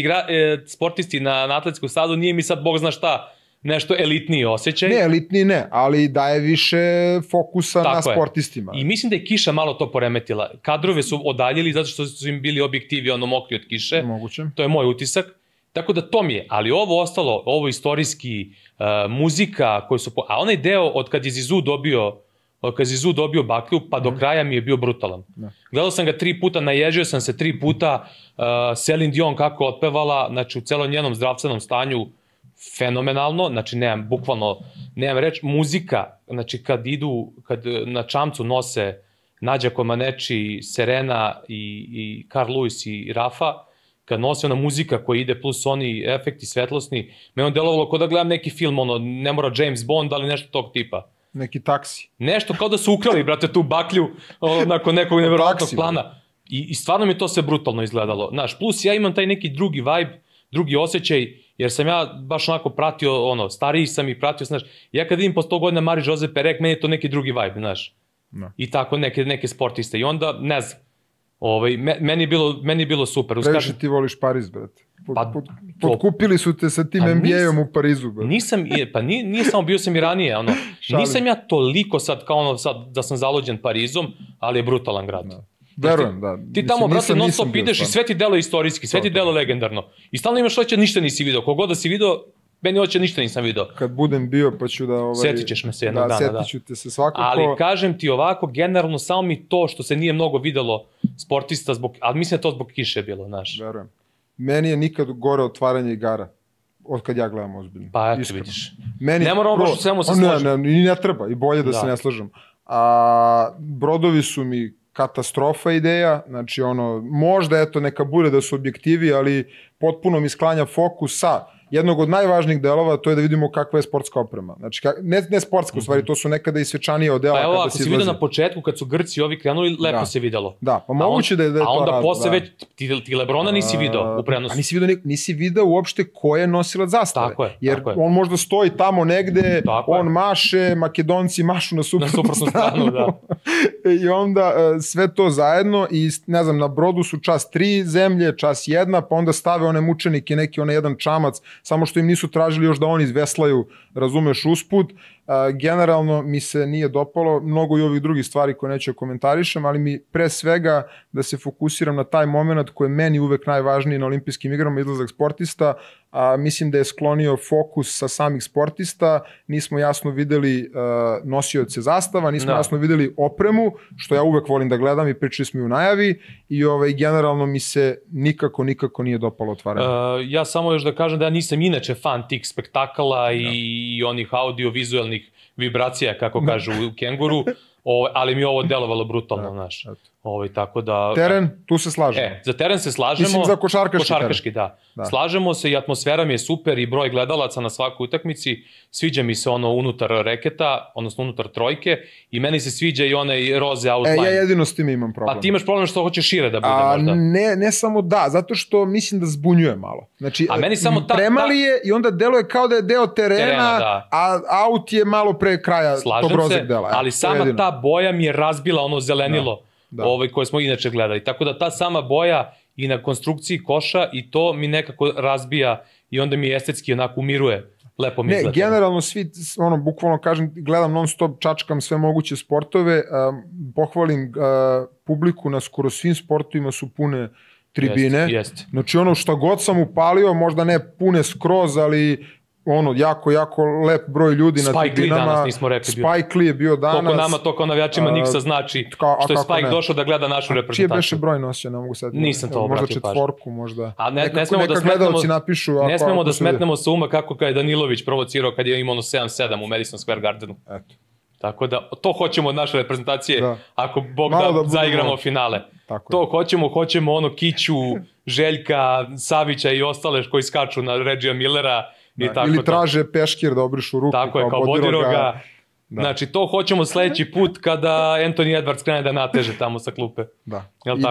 sportisti na atletsku stazu, nije mi sad, Bog zna šta, nešto elitniji osjećaj. Ne, elitniji ne, ali daje više fokusa na sportistima. I mislim da je kiša malo to poremetila. Kadrove su odaljili zato što su im bili objektivi mokri od kiše. Moguće. To je moj utisak. Tako da to mi je, ali ovo ostalo, ovo istorijski, muzika, a onaj deo od kad je Zizou dobio baklju, pa do kraja mi je bio brutalan. Gledao sam ga 3 puta, naježio sam se 3 puta, Celine Dion kako otpevala, znači u celom njenom zdravstvenom stanju, fenomenalno, znači nemam reč, muzika, znači kad na čamcu nose Nađa Comaneci, Serena i Carl Lewis i Rafa, kad nosi ona muzika koja ide plus oni efekti svetlosni, me on delovalo kao da gledam neki film, ne mora James Bond, ali nešto tog tipa. Neki taksi. Nešto kao da su ukrali, brate, tu baklju nakon nekog nevjerojatnog plana. I stvarno mi to sve brutalno izgledalo. Znaš, plus ja imam taj neki drugi vibe, drugi osjećaj, jer sam ja baš onako pratio, stariji sam i pratio, znaš, ja kad vidim po 100 godina Marie-José Pérec, meni je to neki drugi vibe, znaš. I tako neke sportiste. I onda, ne znam, meni je bilo super. Previše ti voliš Pariz, brate. Potkupili su te sa tim NBA-om u Parizu. Nije samo, bio sam i ranije. Nisam ja toliko sad kao sad da sam zalođen Parizom, ali je brutalan grad. Verujem, da. Ti tamo, brate, non stop ideš i sve ti delo istorijski, sve ti delo legendarno. I stalno imaš hoće, ništa nisi video. Kogod da si video, meni hoće ništa nisam video. Kad budem bio, pa ću da... Sjetit ćeš me se jednog dana, da. Sjetit ću te se svakako. Ali kažem ti ovako, generalno, samo mi to što se nije mnogo videlo sportista, ali mislim da to zbog kiše bilo, znaš. Verujem. Meni je nikad gore otvaranje igara, od kad ja gledam ozbiljno. Pa eto vidiš. Ne moramo baš u svemu se složiti. Ne treba, i bolje da se ne slažem. Brodovi su mi katastrofa ideja, znači možda eto neka bude da su objektivi, ali potpuno mi sklanja fokus sa jednog od najvažnijih delova, to je da vidimo kakva je sportska oprema. Znači, ne sportska u stvari, to su nekada i svečanije odela. Pa evo, ako si vidio na početku, kad su Grci ovi krenuli, lepo se videlo. Da, pa moguće da je to rad. A onda posle već, ti Lebrona nisi video u prenosu. A nisi video uopšte ko je nosilac zastave. Tako je. Jer on možda stoji tamo negde, on maše, Makedonci mašu na suprotnu stranu. I onda sve to zajedno i ne znam, na brodu su čas 3 zemlje, čas 1, pa onda stave one mučenike, neki jedan čamac, samo što im nisu tražili još da oni izveslaju, razumeš, usput. Generalno mi se nije dopalo, mnogo i ovih drugih stvari koje neću komentarišem, ali mi pre svega da se fokusiram na taj moment koji je meni uvek najvažniji na olimpijskim igrama, izlazak sportista, mislim da je sklonio fokus sa samih sportista, nismo jasno videli nosioce zastava, nismo jasno videli opremu, što ja uvek volim da gledam i pričali smo i u najavi, i generalno mi se nikako nije dopalo otvaranje. Ja samo još da kažem da ja nisam inače fan tih spektakala i onih audio-vizualnih vibracija, kako kažu u Kenguru, ali mi ovo delovalo brutalno, znaš. Tako da... Teren, tu se slažemo. Za teren se slažemo. Mislim za košarkaški da. Slažemo se i atmosfera mi je super i broj gledalaca na svakoj utakmici. Sviđa mi se unutar reketa, odnosno unutar trojke, i meni se sviđa i onaj roze outline. Ja jedino s tim imam problem. A ti imaš problem što hoćeš šire da bude možda? Ne samo da, zato što mislim da zbunjuje malo. Znači, premali je i onda deluje kao da je deo terena, a aut je malo pre kraja tog rozeg dela. Ali sama ta boja mi je razbila ono zelenilo koje smo inače gledali. Tako da ta sama boja i na konstrukciji koša i to mi nekako razbija i onda mi estetski onako umiruje. Lepo mi izgleda. Generalno svi, bukvalno kažem, gledam non stop, čačkam sve moguće sportove, pohvalim publiku na skoro svim sportovima su pune tribine. Znači šta god sam upalio, možda ne pune skroz, ali jako lep broj ljudi na tribinama. Spike Lee danas nismo rekli. Spike Lee je bio danas. Koliko nama to kao navijačima Niksa znači, što je Spike došao da gleda našu reprezentaciju. Čije beše broj nosio, ne mogu sad. Nisam to obratio pažnju. Možda 4, možda. A ne smemo da smetnemo sa uma kako je Danilović provocirao kad je imao 7-7 u Madison Square Gardenu. Tako da, to hoćemo od naše reprezentacije, ako Bog da zaigramo finale. To hoćemo kiću, Željka, Savića i ostale koji skaču na Regija Millera i tako ili traže peškir da obrišu ruku tako je, kao Bodiroga. Znači, to hoćemo sledeći put kada Anthony Edwards krene da nateže tamo sa klupe. Da,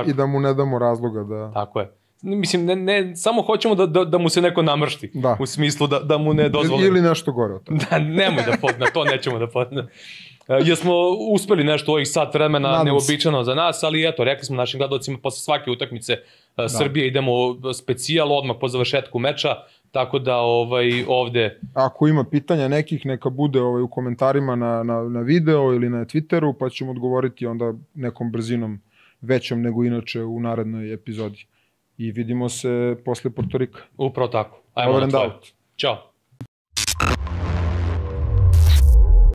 i da mu ne damo razloga da... Tako je. Mislim, ne, samo hoćemo da mu se neko namršti. U smislu da mu ne dozvoli. Ili nešto gore od toga. Nemoj da podne, to nećemo da podne. Jer smo uspeli nešto u ovih sat vremena neobičano za nas, ali eto, rekli smo našim gledalcima posle svake utakmice Srbije idemo specijal odmah po završetku meča, tako da ovde... Ako ima pitanja nekih, neka bude u komentarima na video ili na Twitteru, pa ćemo odgovoriti onda nekom brzinom većom nego inače u narednoj epizodi. I vidimo se posle Portorika. Upravo tako. Ajmo na tvoje. Ćao.